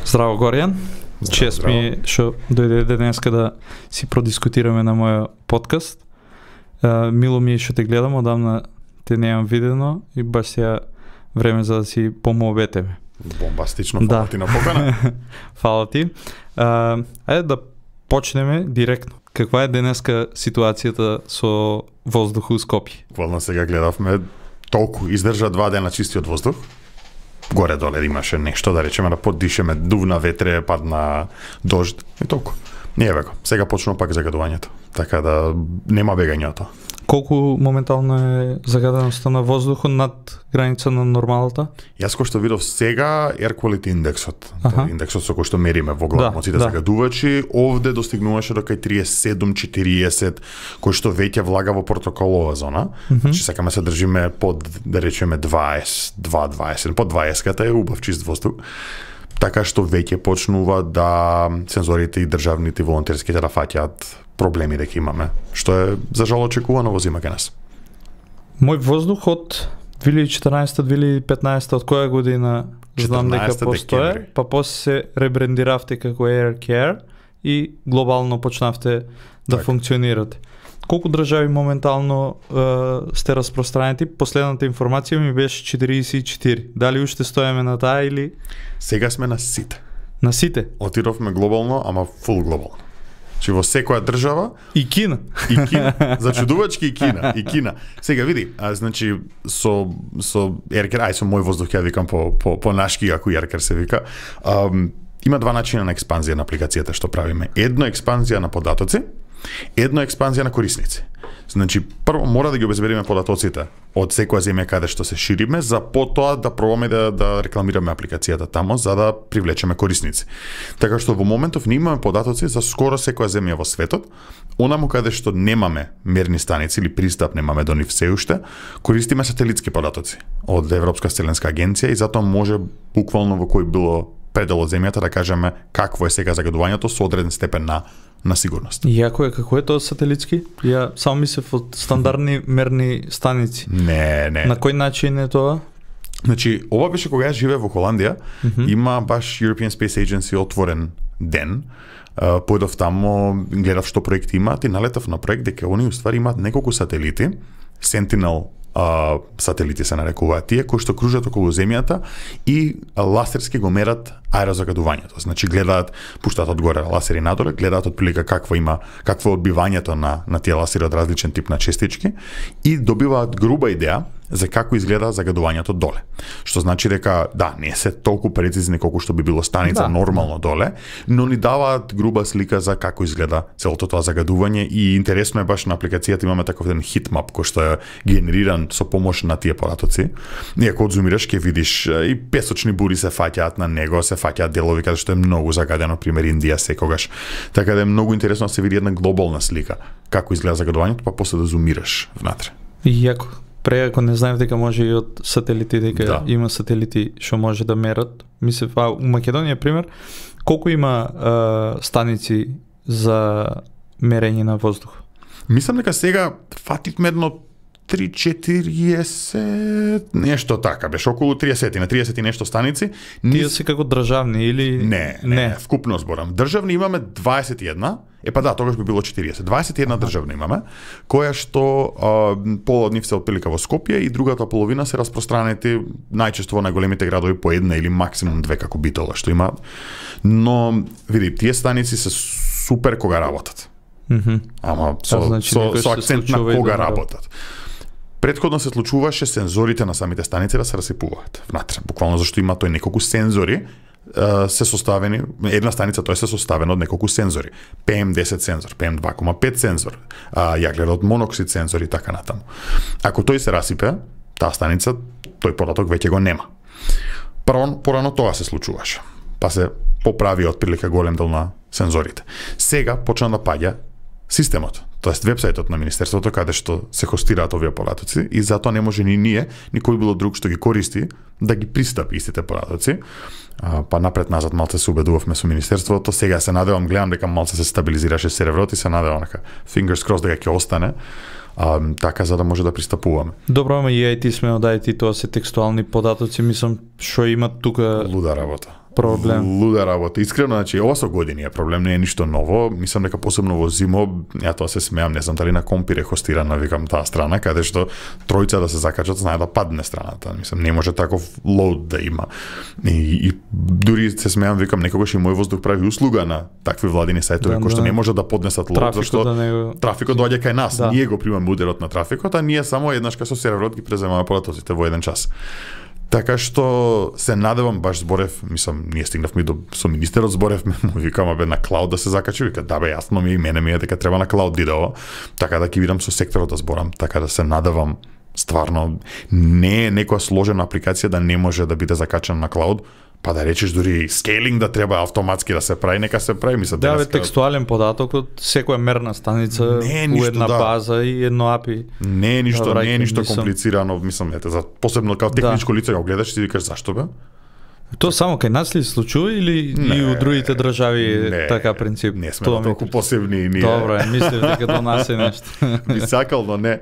Здраво, Горијан. Чест ми што дојде денеска да си продискутираме на мојот подкаст. Мило ми е што те гледам, одамна те немам видено и баш сега време за да си помоветеме. Бомбастично, фала ти на покана. Фала ти. Ајде да почнеме директно. Каква е денеска ситуацијата со воздух у Скопје? Буквално сега гледавме, толку издржа 2 дена чистиот воздух. Горе-доле имаше нешто, да речеме, да поддишеме, дувна ветре, падна дожд и толку. Не е веко. Сега почнува пак загадувањето. Така да нема бегањето. Колку моментално е загаденоста на воздухот над граница на нормалата? Јас кој што видов сега Air Quality индексот, индексот со кој што мериме во главно сите загадувачи, овде достигнуваше до кај 37-40, кој што веќе влага во протоколова зона. Значи сакаме се држиме под, да речеме, 20, под 20-ката е убав чист воздух. Така што веќе почнува да сензорите и државните и волонтерските да фаќаат проблеми дека имаме, што е за жал очекувано во зима кај нас. Мој воздух од 2014-2015 од која година знам дека постоje, па после се ребрендиравте како Air Care и глобално почнавте да функционирате. Колку држави моментално сте распространети? Последната информација ми беше 44. Дали уште стоеме на таа или? Сега сме на сите. На сите? Отидовме глобално, ама фул глобално. Че во секоја држава и Кина. И Кина. Зачудувачки и Кина. Сега види, значи со Еркер, со мој воздух ја викам по нашки, ако Еркер се вика. Има два начина на експанзија на апликацијата што правиме. Едно експанзија на податоци, едно експанзија на корисници. Значи, прво мора да ги обезбедиме податоците од секоја земја каде што се шириме, за потоа да пробаме да рекламираме апликацијата тамо, за да привлечеме корисници. Така што во моментов ние имаме податоци за скоро секоја земја во светот, онаму каде што немаме мерни станици или пристап немаме до нив се уште, користиме сателитски податоци од Европска вселенска агенција и затоа може буквално во кој било предел од земјата да кажеме какво е сега загадувањето со одреден степен на сигурност. Јако е, како е тоа сателитски? Ја само мислев од стандардни мерни станици. Не. На кој начин е тоа? Значи, ова беше кога јас живеев во Холандија, има баш European Space Agency отворен ден. Појдов тамо, гледав што проекти имаат и налетав на проект дека они уствари имаат неколку сателити, Sentinel сателити се нарекуваат тие, кои што кружат околу земјата и ласерски го мерат аерозагадувањето. Значи гледаат, пуштаат одгоре ласери надоле, гледаат отприлика какво е одбивањето на тие ласери од различен тип на честички и добиваат груба идеја за како изгледа загадувањето доле. Што значи дека не се толку прецизни колку што би било станица нормално доле, но ни даваат груба слика за како изгледа целото тоа загадување и интересно е баш на апликацијата имаме таков еден хитмап кој што е генериран со помош на тие податоци. И ако одзумираш ќе видиш и песочни бури се фаќаат на него, се фаќаат делови каде што е многу загадено, пример Индија секогаш. Така да е многу интересно да се види една глобална слика како изгледа загадувањето, па после да зумираш внатре. Јако. Преако не знаев дека може и од сателити, дека има сателити што може да мерат. Мислев, у Македонија, пример, колку има станици за мерење на воздух? Мислам дека сега фативме едно 3-40, нешто така, беше околу 30 на 30 и нешто станици. Тие се како државни или... Не, вкупно зборам. Државни имаме 21, тогаш би било 40. 21 државни имаме, која што пола од нив се отприлика во Скопје и другата половина се распространети најчесто во најголемите градови по една или максимум 2 како Битола што имаат. Но, види, тие станици се супер кога работат. Ама со акцент на кога работат. Предходно се случуваше сензорите на самите станици да се расипуваат внатре, буквално зашто има тој неколку сензори се составени, една станица тој се составена од неколку сензори. PM10 сензор, PM2,5 сензор, јаглерод моноксид сензор и така натаму. Ако тој се расипе, таа станица, тој податок веќе го нема. Порано тоа се случуваше. Па се поправи отприлика голем дел на сензорите. Сега почна да паѓа системот, тоест вебсајтот на Министерството каде што се хостираат овие податоци и затоа не може ни ние, ни кој било друг што ги користи, да ги пристапи истите податоци. Па напред-назад малце се убедувавме со Министерството, сега се надевам, гледам дека малце се стабилизираше серверот и се надевам дека fingers crossed дека ќе остане. така за да може да пристапуваме. Добро, ама и IT сме одајти, тоа се текстуални податоци, мислам, што имат тука луда работа. Проблем. Луда работа. Искрено, значи, ова со години е проблем, не е ништо ново. Мислам дека посебно во зимо, ја тоа се смеам, не знам дали на Компир е хостирана, викам, таа страна, каде што тројца да се закачат, знае да падне страната. Мислам, не може таков лоуд да има. И дури се смеам, викам, некогаш и мој воздух прави услуга на такви владини сајтови, кои што не може да поднесат лоуд, зашто трафикот доаѓа кај нас. Да. Ние го примаме ударот на трафикот, а ние само еднаш кај со серверот ги преземаме податоците во еден час. Така што се надевам, баш зборев, мислам, ние стигнавме со министерот зборевме, му викам, абе, на клауд да се закачи, вика, да бе, јасно ми и мене ми е дека треба на клауд диде ова, така да ќе видам со секторот да зборам, така да се надевам, стварно, не е некоја сложена апликација да не може да биде закачана на клауд, па да речеш дури скейлинг да треба автоматски да се прави, нека се прави, мислам. Да, бе, текстуален податок од секоја мерна станица у една база и едно API. Не е ништо комплицирано, мислам, ете, за посебно како техничко лице го гледаш и си викаш зашто бе? Тоа само кај нас ли случува или и у другите држави е така принцип? Не сме толку посебни и ние. Добро, мислев дека до нас е нешто. Би сакал, но не.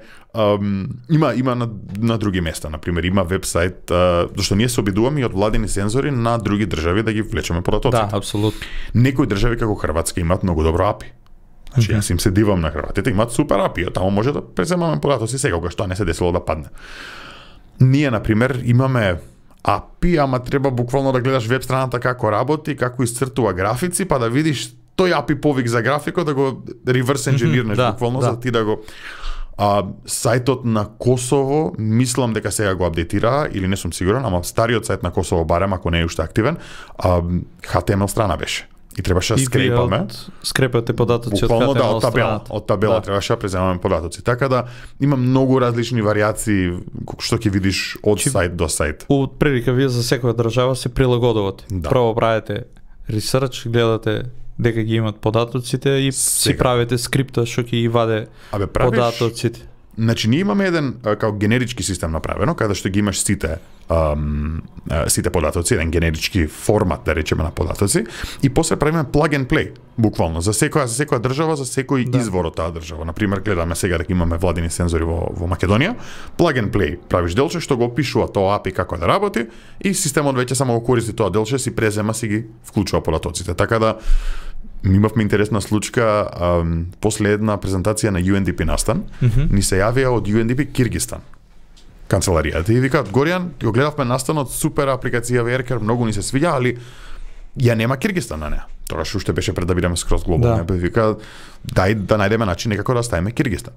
Има на други места, например, има вебсайт, зашто ние се обидуваме и од владени сензори на други држави да ги влечеме податоците. Да, апсолутно. Некои држави како Хрватска имаат многу добро API. Значи, јас им се дивам на хрватите, имаат супер API, таму може да преземаме податоци секогаш, тоа не се десило да падне. Ние, например, имаме API, ама треба буквално да гледаш веб страната како работи, како исцртува графици, па да видиш тој API повик за графикот, да го реверс енджинирнеш буквално, за ти да го... сајтот на Косово, мислам дека сега го апдейтира, или не сум сигурен, ама стариот сајт на Косово, барем ако не е уште активен, HTML страна беше. И требаше да скрепаме. Скрепате податоци од HTML страната. Од табела требаше да преземаме податоци. Така да има многу различни варијации што ќе видиш од сајт до сајт. Од прилика вие за секоја држава се прилагодувате. Да. Прво правите ресерч, гледате дека ги имат податоците и си правите скрипта што ќе ги ваде податоците. Значи ние имаме еден као генерички систем направено, каде што ги имаш сите податоци, еден генерички формат да речеме на податоци, и после правиме plug and play, буквално за секоја држава, за секој извор од таа држава. Например, гледаме сега дека имаме владини сензори во Македонија, plug and play, правиш делче што го опишува тоа API како да работи и системот веќе само го користи тоа делче, си презема, си ги вклучува податоците. Така да имавме интересна случка, после една презентација на UNDP настан, ни се јавија од UNDP Киргистан канцеларијата и викаат, Горијан, го гледавме настанот, супер апликација Worker, многу ни се свиѓа, али ја нема Киргистан на неа. Тогаш уште беше пред да бидеме скроз глобално. Да. Вика, дај да најдеме начин некако да ставиме Киргистан.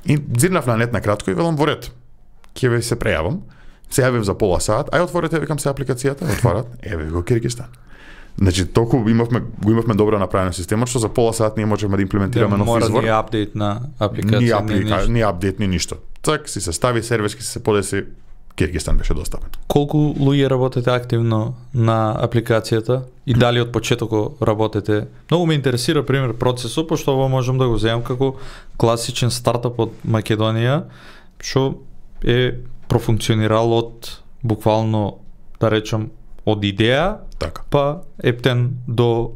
И зирнав на нет на кратко и велам во ред. Ќе ве се прејавам, се јавив за пола сат, ај отворете, викам се апликацијата, отварат, еве го Киргистан. Значи, толку го имавме добро направено системот, што за пола сат ние можеме да имплементираме нов извор. Мора ни апдейт на апликација. Ни апдейт, ни ништо. Цак, си се стави серверски, си се подеси, Киргистан беше достапен. Колку луѓе работите активно на апликацијата и дали од почетокот работите? Многу ме интересира, пример, процесот, пошто ово можам да го земам како класичен стартап од Македонија, што е профункционирал од буквално, да речам, од идеја, така, па ептен до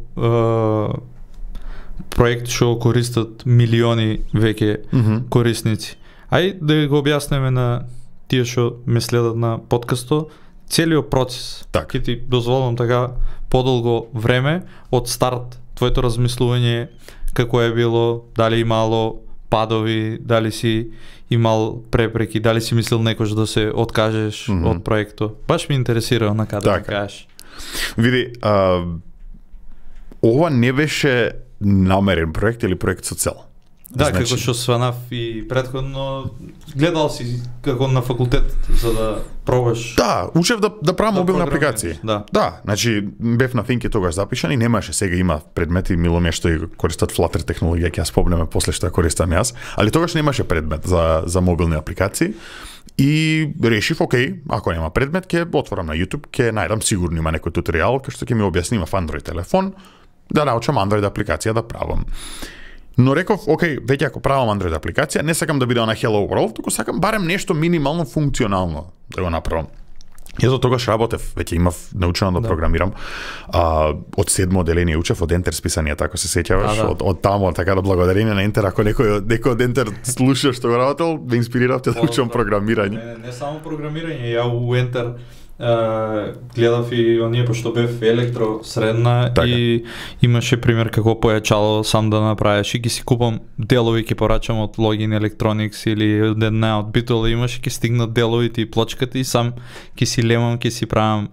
проект што користат милиони веќе корисници. Ај да го објаснеме на тие што ме следат на подкастот, целиот процес. Така. Ќе ти дозволам така подолго време од старт, твоето размислување како е било, дали имало падови, дали си имал препреки, дали си мислил некош да се откажеш од проектот. Баш ми интересира на каде да кажеш. Види, ова не беше намерен проект или проект со цел. Да, значи, како што сванав и претходно, гледал си како на факултет за да пробаш. Да, учев да правам мобилни апликации. Да, значи бев на Think тогаш запишан и немаше, сега има предмети миломе што и користат Flutter технологија, ќе ја спомнеме после што ја користам јас, али тогаш немаше предмет за мобилни апликации. И решив, окей, ако нема предмет, ќе отворам на YouTube, ќе најдам сигурно има некој туторијал кој што ќе ми објасни в Android телефон да научам Android апликација да правам. Но реков, окей, веќе ако правам Android апликација, не сакам да биде на Hello World, туку сакам барем нешто минимално функционално да го направам. Јас до тогаш работев, веќе имав научено да програмирам. Од 7 одделение учев од Ентер списанијата, ако се сеќаваш, од таму, така да благодарение на Ентер, ако некој од Ентер слуша што го работел, ме инспириравте да учам програмирање. Не само програмирање, ја у Ентер гледав и оние пошто бев електро средна и имаше пример како појачало сам да направиш и ги си купам делови, ќе порачам од Login Electronics или од една од Битол, имаше ќе стигнат деловите и плочката и сам ќе си лемам, ќе си правам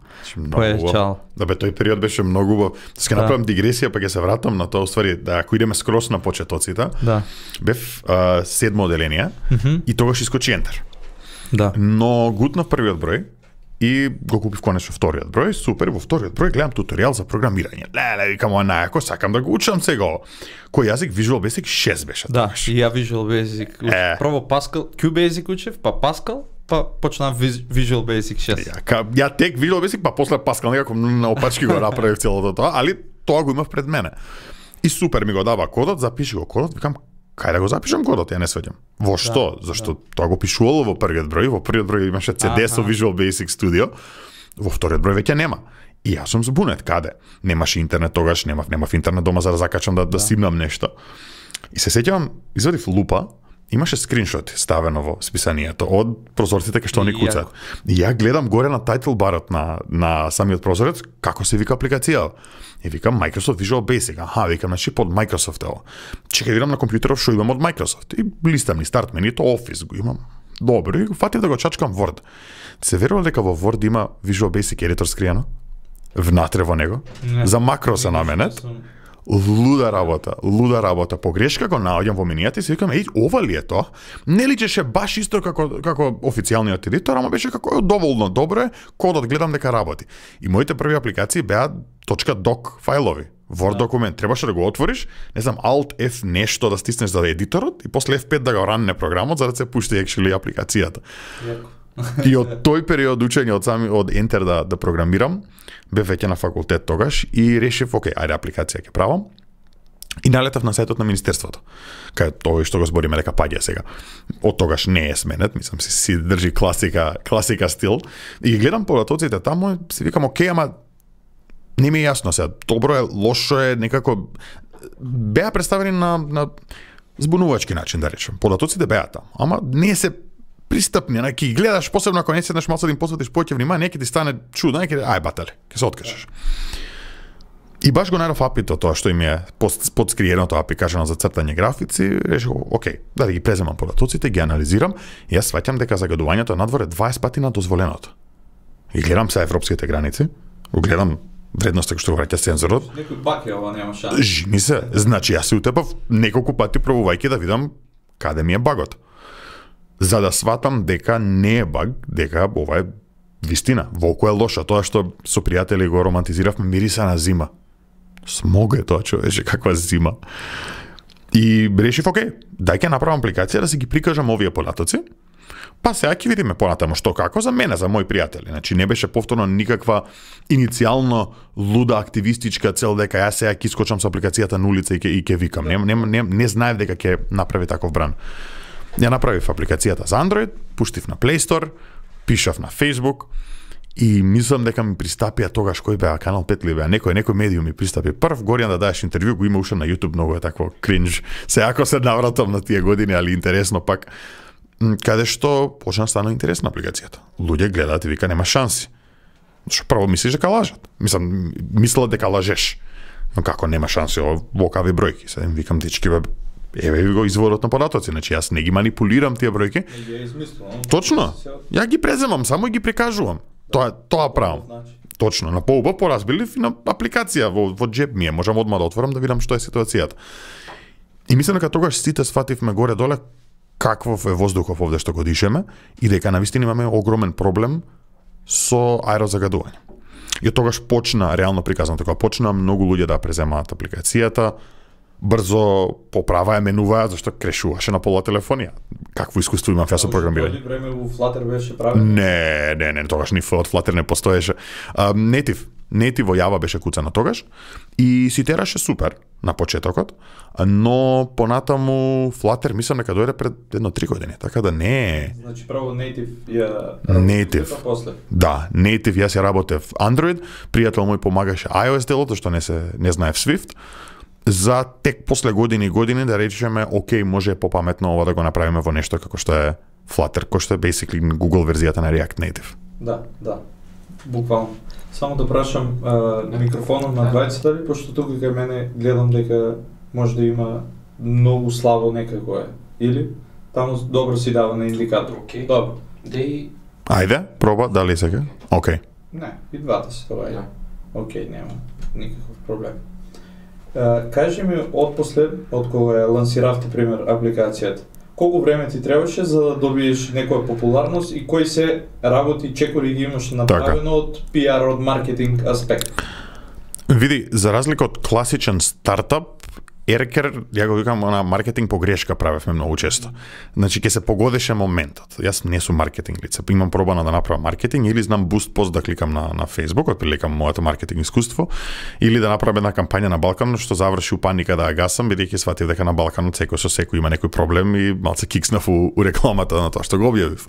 појачало. Да бе, тој период беше многу убав. Ќе направам дигресија, па ќе се вратам на тоа, уствари, да ако идеме скрос на почетоците. Бев 7 одделение и тогаш искочи Ентер. Но гутнав првиот број и го купив конечно вториот број, супер, во вториот број гледам туторијал за програмирање. Викам, најако, сакам да го учам сега. Кој јазик? Visual Basic 6 беше. Да, и ја Visual Basic. Прво Pascal, QBasic учев, па Pascal, па почнав Visual Basic 6. Ја тек Visual Basic, па после Pascal, некако наопачки го направив целото тоа, али тоа го имав пред мене. И супер ми го дава кодот, запиши го кодот, викам, кај да го запишам кодот, ја не сваѓам. Во што? Зашто тоа го пишувало во првиот број имаше CD со Visual Basic Studio, во вториот број веќе нема. И јас сум збунет, каде? Немаше интернет тогаш, немав интернет дома за да закачам да симнам нешто. И се сеќавам, извадив лупа, имаше скриншот ставено во списанието од прозорците кај што они куцаат. И ја гледам горе на тајтл барот на самиот прозорец како се вика апликацијата. И викам Microsoft Visual Basic. Викам, значи под Microsoft ево. Чекај видам на компјутеров што имам од Microsoft. И листам ни старт менито, Office го имам. Добро, и фатив да го чачкам Word. Се верува дека во Word има Visual Basic Editor скриено? Внатре во него? За макро се наменет. Луда работа. Погрешка го наоѓам во менијата и си викам, ова ли е тоа? Не личеше баш исто како официјалниот едитор, ама беше како доволно добро, кодот гледам дека работи. И моите први апликации беа .doc фајлови. Word документ, требаше да го отвориш, не знам, Alt F нешто да стиснеш за едиторот и после F5 да го ранне програмот за да се пушти actually апликацијата. И од тој период учење од Enter да програмирам, бев веќе на факултет тогаш и решив, окей, ајде апликација ќе правам. И налетав на сајтот на Министерството. Кај тоа што го збориме дека паѓа сега. Од тогаш не е сменет, мислам си држи класика стил. И гледам податоците таму, си викам, окей, ама не ми е јасно сега. Добро е, лошо е, некако беа представени на збунувачки начин, да речем. Податоците беа таму, ама не се пристапни, ќе гледаш, посебно ако не седнеш малку да им посветиш повеќе внимание, ќе ти стане чудно, ај батале, ќе се откажеш. И баш го најдов апито тоа што им е подскриеното апи кажано за цртање графици, решив, окей, да ги преземам податоците, ги анализирам, и јас сваќам дека загадувањето надвор е 20 пати над дозволеното. И гледам се европските граници, гледам вредноста што го враќа сензорот. Некој баг е ова, нема шанс. Жени се, значи јас се утепав неколку пати пробувајќи да видам каде ми е багот. За да сватам дека не е баг, дека ова е вистина. Волку е лошо, тоа што со пријатели го романтизиравме, мириса на зима. Смог е тоа, човече, каква зима. И решив, окей, дај ќе направам апликација да си ги прикажам овие податоци, па сега ќе видиме понатаму што како за мене, за мои пријатели. Значи не беше повторно никаква иницијално луда активистичка цел дека јас сега ќе искочам со апликацијата на улица и ќе викам. Не знаев дека ќе направи таков бран. Ја направив апликацијата за Android, пуштив на Play Store, пишав на Facebook и мислам дека ми пристапија тогаш кој беа Канал 5 ли беа, некој медиум ми пристапи прв, Горијан да даеш интервју, го има уште на YouTube, многу е такво кринж. Се ако се навратам на тие години, али интересно пак, каде што почна стана интересна апликацијата. Луѓе гледаат и вика нема шанси. Што прво мислиш дека лажат. Мислат дека лажеш. Но како нема шанси, во кави бројки. Сега им викам дечки, еве ви го изворот на податоци, значи јас не ги манипулирам тие бројки. Не ги измислувам. Точно. Ја ги преземам, само ги прикажувам. Тоа правам. Точно, на поубав поразбилив и на апликација во джеб ми е, можам одма да отворам да видам што е ситуацијата. И мислам дека тогаш сите сфативме горе доле каквов е воздухов овде што го дишеме и дека навистина имаме огромен проблем со аерозагадување. И од тогаш почна, реално приказано така, почна многу луѓе да преземаат апликацијата, брзо поправаа, менуваат, зашто крешуваше на пола телефонија. Какво искуство имам јас со програмирање? Време во Flutter беше правено? Не, тогаш ни од Flutter не постоеше. Native Native во Java беше куцано тогаш и си тераше супер на почетокот, но понатаму Flutter мислам дека дојде пред 1-3 години, така да не е. Значи право Native ја Native. после. Да, Native јас ја работев Android, пријател мој помагаше iOS делото што не знаев Swift. За тек после години и години да речеме, окей, може попаметно ова да го направиме во нешто како што е Flutter, кој што е basically Google верзијата на React Native. Да. Буквално. Само да прашам микрофонот на двајцата ли, пошто тука кај мене гледам дека може да има многу слабо некако е. Или таму добро си дава на индикатор. Окей. Добро. Ајде, проба, дали сега? Окей. Не, и двата се тоа е. Окей, нема никаков проблем. Кажи ми отпосле, од кога ја лансиравте пример апликацијата, колку време ти требаше за да добиеш некоја популарност и кои се работи чекори ги имаш направено од PR, од маркетинг аспект? Види, за разлика од класичен стартап, Еркер, ја го викам, на маркетинг погрешка правевме многу често. Значи, ќе се погодеше моментот. Јас не сум маркетинг лице, имам пробано да направам маркетинг, или знам буст пост да кликам на Facebook, отприлика моето маркетинг искуство, или да направам една кампања на Балканот, што заврши у паника да ја гасам, бидејќи сватив дека на Балканот секој со секој има некој проблем и малце кикснав у рекламата на тоа што го објавив.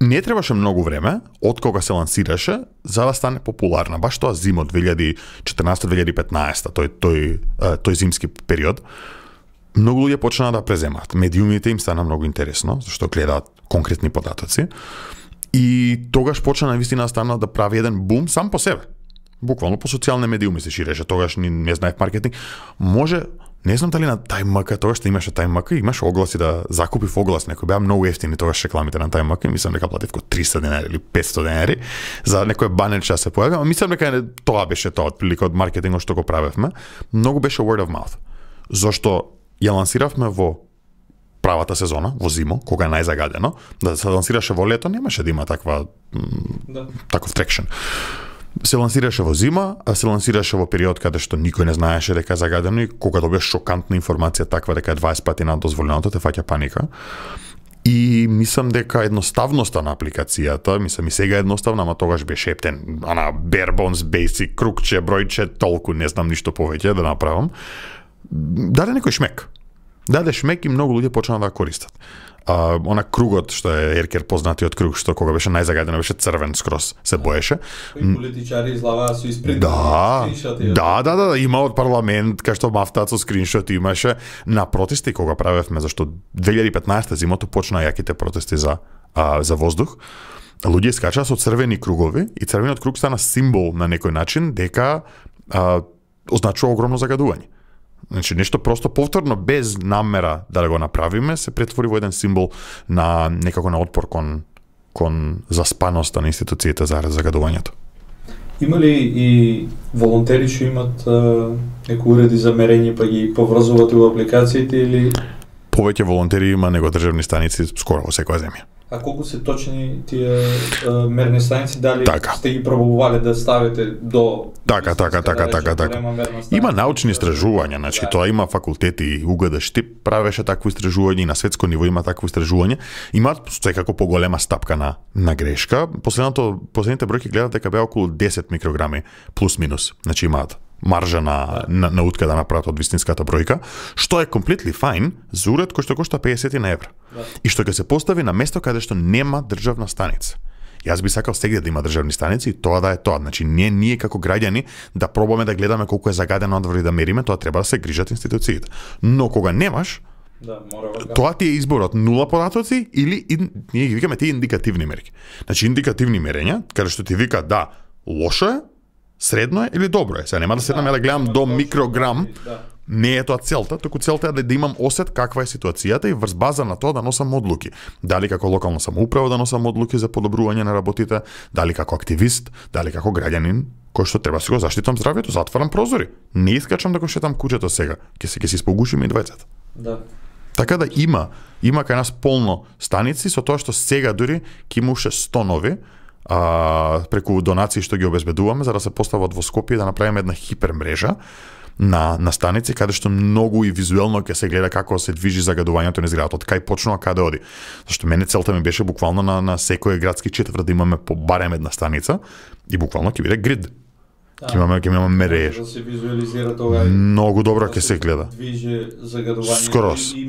Не требаше многу време од кога се лансираше за да стане популарна. Баш тоа зима од 2014-2015, тој зимски период. Многу луѓе почнаа да преземаат. Медиумите им стана многу интересно, зашто гледаат конкретни податоци. И тогаш почна навистина да стана да прави еден бум сам по себе. Буквално по социјални медиуми се ширеше. Тогаш не знаев маркетинг. Може, не знам дали на TimeMaker, тогаш што имаше TimeMaker, имаше огласи да закупив оглас, некој беа многу ефтини тогаш рекламите на TimeMaker, мислам дека платив ко 300 денари или 500 денари за некој банерче да се појави, а мислам дека тоа беше тоа отприлика од маркетингот што го правевме. Многу беше word of mouth. Зошто ја лансиравме во правата сезона, во зимо, кога е најзагадено, да се лансираше во лето, немаше да има таков трекшн. Се лансираше во зима, а се лансираше во период каде што никој не знаеше дека е загадено и кога добиеш шокантна информација таква дека е 20 пати над дозволеното, те фаќа паника. И мислам дека едноставноста на апликацијата, мислам и сега е едноставна, ама тогаш беше ептен, ана bare bones basic, крукче, бројче, толку, не знам ништо повеќе да направам. Даде некој шмек. Даде шмек и многу луѓе почнаа да користат. Она кругот што е Еркер познатиот круг што кога беше најзагадено беше црвен скрос се боеше. Кои политичари излаваа со испринт. Да, има од парламент кај што мафтаат со скриншоти имаше на протести кога правевме, зашто 2015 зимото почна јаките протести за воздух. Луѓе скачаа со црвени кругови и црвениот круг стана символ на некој начин дека означува огромно загадување. Значи, нешто просто повторно, без намера да го направиме, се претвори во еден символ на некако на отпор кон заспаноста на институциите за загадувањето. Има ли и волонтери што имат некои уреди за мерење па ги поврзувате во апликациите или? Повеќе волонтери има него државни станици скоро во секоја земја. А колку се точни тие мерни станици, дали сте ги пробувале да ставите до... Така. Има научни истражувања, значи тоа има факултети, УГД Штип правеше такво истражување и на светско ниво има такво истражување. Имаат секако поголема стапка на грешка. Последните бројки гледате дека беа околу 10 микрограми плюс минус. Значи имаат маржа на утка да направат од вистинската бројка, што е completely fine за уред кој што кошта 50 евра. И што ќе се постави на место каде што нема државна станица. Јас би сакал сегде да има државни станици и тоа да е тоа. Значи ние како граѓани да пробаме да гледаме колку е загадено одвор и да мериме, тоа треба да се грижат институциите. Но кога немаш, тоа ти е изборот нула податоци или ние ги викаме тие индикативни мерки. Значи индикативни мерења, каде што ти вика да, лошо е, средно е или добро е. Сега нема да седнам да гледам до микрограм, не е тоа целта, туку целта е да имам осет каква е ситуацијата и врз база на тоа да носам одлуки. Дали како локална самоуправа да носам одлуки за подобрување на работите, дали како активист, дали како граѓанин кој што треба да си го заштитам здравјето, затварам прозори. Не искачам да го шетам куќето сега, ќе се испогушиме и двајцата. Да. Така да има кај нас полно станици со тоа што сега дури ќе има уште 100 нови преку донации што ги обезбедуваме за да се постават во Скопје да направиме една хипермрежа на станици каде што многу и визуелно ќе се гледа како се движи загадувањето низ градот, од кај почнува каде оди. Зашто мене целта ми беше буквално на секој градски четврт да имаме по барем една станица и буквално ќе биде грид. Ќе имаме мереж. Да се визуализира тоа. Многу добро ќе се гледа. Движи загадувањето. Скорос. И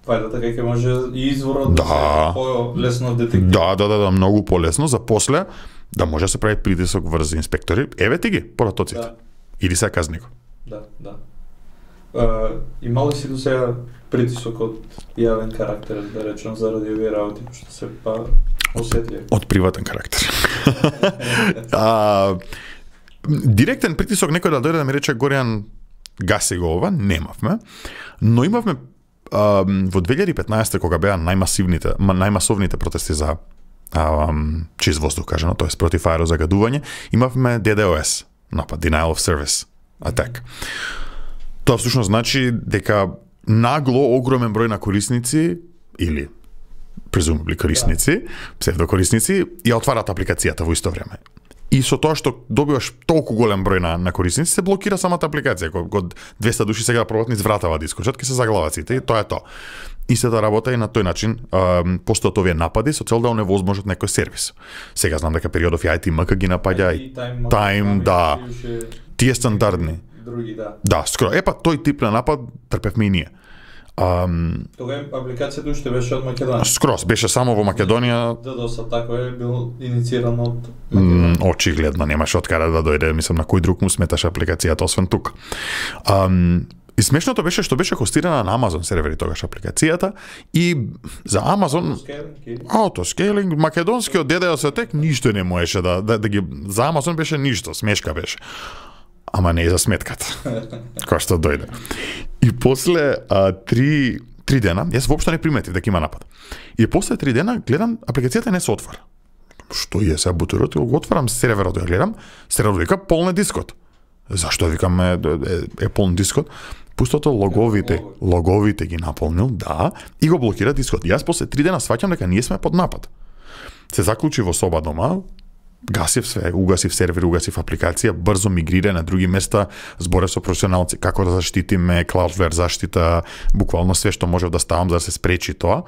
фајдата ќе може и изворот да се по-лесно детектира. Да, многу полесно за после да може да се прави притисок врз инспектори. Еве ти ги поратоците. Да. Или се казни го. Да. Има ли си до сега притисок од јавен карактер, да речем, заради овие работи, што се осетливи? Од приватен карактер. Директен притисок некој да дојде да ми рече Горијан гаси го ова, немавме, но имавме во 2015 кога беа најмасовните протести за чист воздух, кажано, тоест против аерозагадување, имавме DDoS, напад, Denial of Service Attack. Тоа всушност значи дека нагло огромен број на корисници или презумабли корисници, псевдокорисници, ја отварат апликацијата во исто време. И со тоа што добиваш толку голем број на корисници, се блокира самата апликација. Кога 200 души сега пробат низ вратава да искочат, ќе се заглават сите и тоа е тоа. Истата работа и на тој начин постојат овие напади со цел да оневозможат некој сервис. Сега знам дека периодов и ITMK ги напаѓа и Time, да. Тие стандардни. Други, да. Да, скоро. Тој тип на напад трпевме и ние. Тога апликацијата уште беше од Македонија. Скрос, беше само во Македонија. DDoS атака е бил иницииран од Македонија. Очигледно немаше од каде да дојде, мислам на кој друг му сметаше апликацијата освен тука. И смешното беше што беше хостирана на Amazon сервери тогаш апликацијата и за Amazon autoscaling македонскиот DDoS атак ништо не можеше да ги за Amazon беше ништо, смешка беше. Ама не и за сметката. Која што дојде. И после 3 дена, јас воопшто не приметив дека има напад. И после 3 дена гледам апликацијата не се отвара. Што е сега бутерот? Го отварам серверот да гледам, серверот вика полн дискот. Зашто викам е полн дискот? Пустото логовите ги наполнил, да, и го блокира дискот. Јас после 3 дена сваќам дека ние сме под напад. Се заклучи во соба дома, гасив све, угасив сервер, угасив апликација, брзо мигрира на други места, зборев со професионалци како да заштитиме, Cloudflare заштита, буквално све што можев да ставам за да се спречи тоа.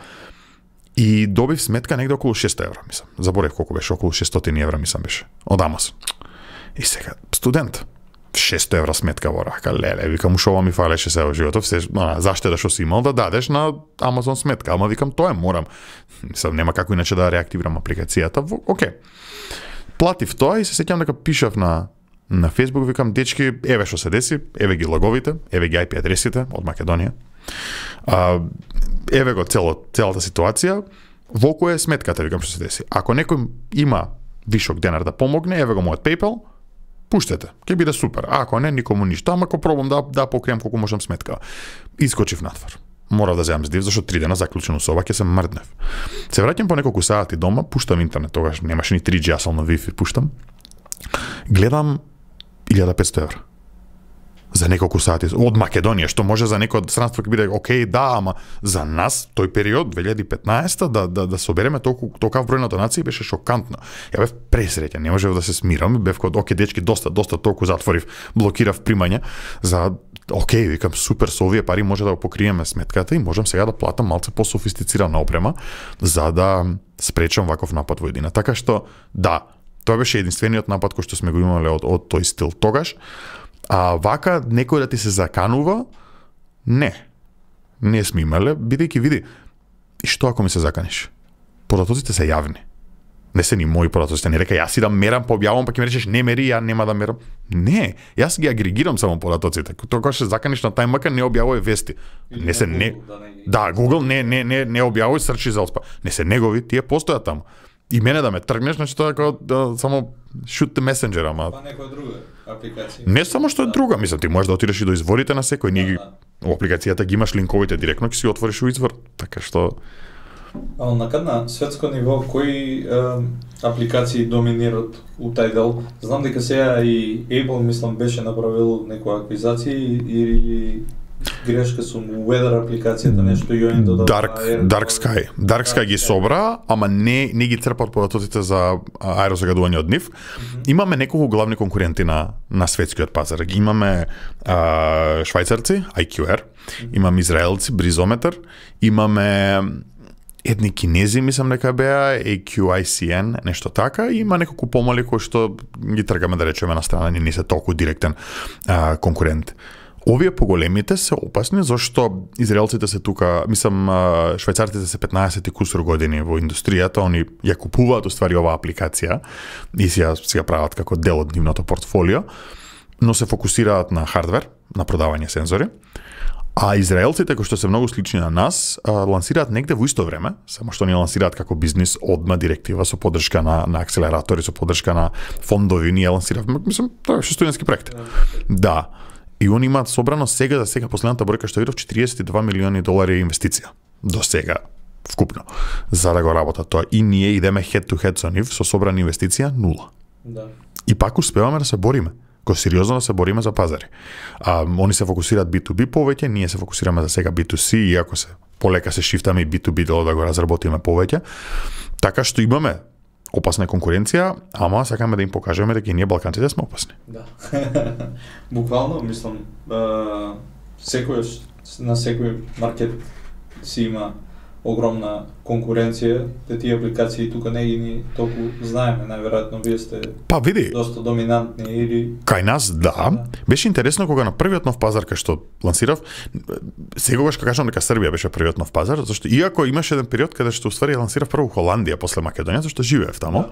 И добив сметка негде околу 600 евра, мислам. Заборев колку беше, околу 600 евра, мислам беше, од Amazon. И сега, студент, 600 евра сметка во рака, леле, викам, ушо ова ми фалеше се во животот, заштеда што си имал да дадеш на Amazon сметка, ама викам, тоа морам. Мислам, нема како иначе да реактивирам апликацијата, окей. Платив тоа и се сеќам дека пишав на Facebook, викам, дечки, еве што се деси, еве ги логовите, еве ги IP адресите од Македонија. Еве го целата ситуација, во која е сметката, викам што се деси. Ако некој има вишок денар да помогне, еве го мојот PayPal, пуштете, ќе биде супер. Ако не, никому ништо, ама ако пробам да покријам колку можам сметка. Искочив надвор. Морав да земам здив, зашто 3 дена заклучено соба, ќе се мрднев. Се враќам по неколку сати дома, пуштам интернет, тогаш немаше ни 3G, јас на Wi-Fi пуштам. Гледам 1500 евра. За неколку сати од Македонија, што може за некој странство ќе биде окей, да, ама за нас тој период 2015 да собереме толков број на донации беше шокантно. Ја бев пресреќен, не можев да се смирам, бев код окей дечки доста толку затворив, блокирав примања за окей, викам супер, со овие пари може да го покриеме сметката и можам сега да платам малце пософистицирана опрема за да спречам ваков напад во едина. Така што да, тоа беше единствениот напад кој што сме го имале од тој стил тогаш. А вака некој да ти се заканува, не сме имале, бидејќи види, и што ако ми се заканиш? Податоците се јавни. Не се ни мои податоците, не река јас идам мерам, пообјавам, па ќе ми речеш не мери, ја нема да мерам. Не, јас ги агрегирам само податоците. Тоа што се заканиш на TimeMaker не објавувај вести. Не се не. Да, Google не објавувај срчи за оспа. Не се негови, тие постојат таму. И мене да ме тргнеш, значи тоа е како само shoot the messenger, ама. Па некоја друга апликација. Не само што е друга, мислам, ти можеш да отидеш и до изворите на секој, ние во апликацијата ги имаш линковите директно, ќе си отвориш во извор, така што А на светско ниво кои апликации доминираат у тај дел? Знам дека сега и Apple мислам беше направил некоја аквизација или грешка сум Weather апликацијата нешто јоин додава Dark Sky ги собра, ама не ги црпат податоците за аерозагадување од нив. Имаме неколку главни конкуренти на светскиот пазар. Имаме швајцарци, IQR, имаме израелци, Бризометар, имаме едни кинези, мислам дека беа, AQICN, нешто така, и има неколку помали кои што ги тргаме да речеме на страна, не се толку директен конкурент. Овие поголемите се опасни, зашто израелците се тука, мислам, швајцарците се 15 и кусур години во индустријата, они ја купуваат уствари оваа апликација и си ја прават како дел од нивното портфолио, но се фокусираат на хардвер, на продавање сензори. А израелците, кои што се многу слични на нас, лансираат негде во исто време, само што они лансираат како бизнис одма директива со поддршка на акселератори, со поддршка на фондови, ние лансиравме, мислам, тоа е студентски проект. Да. И они имаат собрано за сега последната бројка што видов $42 милиони инвестиција до сега вкупно за да го работат тоа. И ние идеме head to head со нив со собрана инвестиција 0. Да. И пак успеваме да се бориме. Сериозно да се бориме за пазари. Они се фокусираат B2B повеќе, ние се фокусираме за сега B2C, иако се полека се шифтаме и B2B да го разработиме повеќе. Така што имаме опасна конкуренција, ама сакаме да им покажеме дека и ние балканците сме опасни. Да. Буквално, мислам, на секој маркет си има огромна конкуренција, тие апликации тука не ги толку знаеме, најверојатно вие сте доста доминантни или кај нас да. Беше интересно кога на првиот нов пазар кај што лансирав, секогаш кога кажам дека Србија беше првиот нов пазар, зашто иако имаше еден период каде што уствари лансирав прво Холандија после Македонија, зашто живеев таму.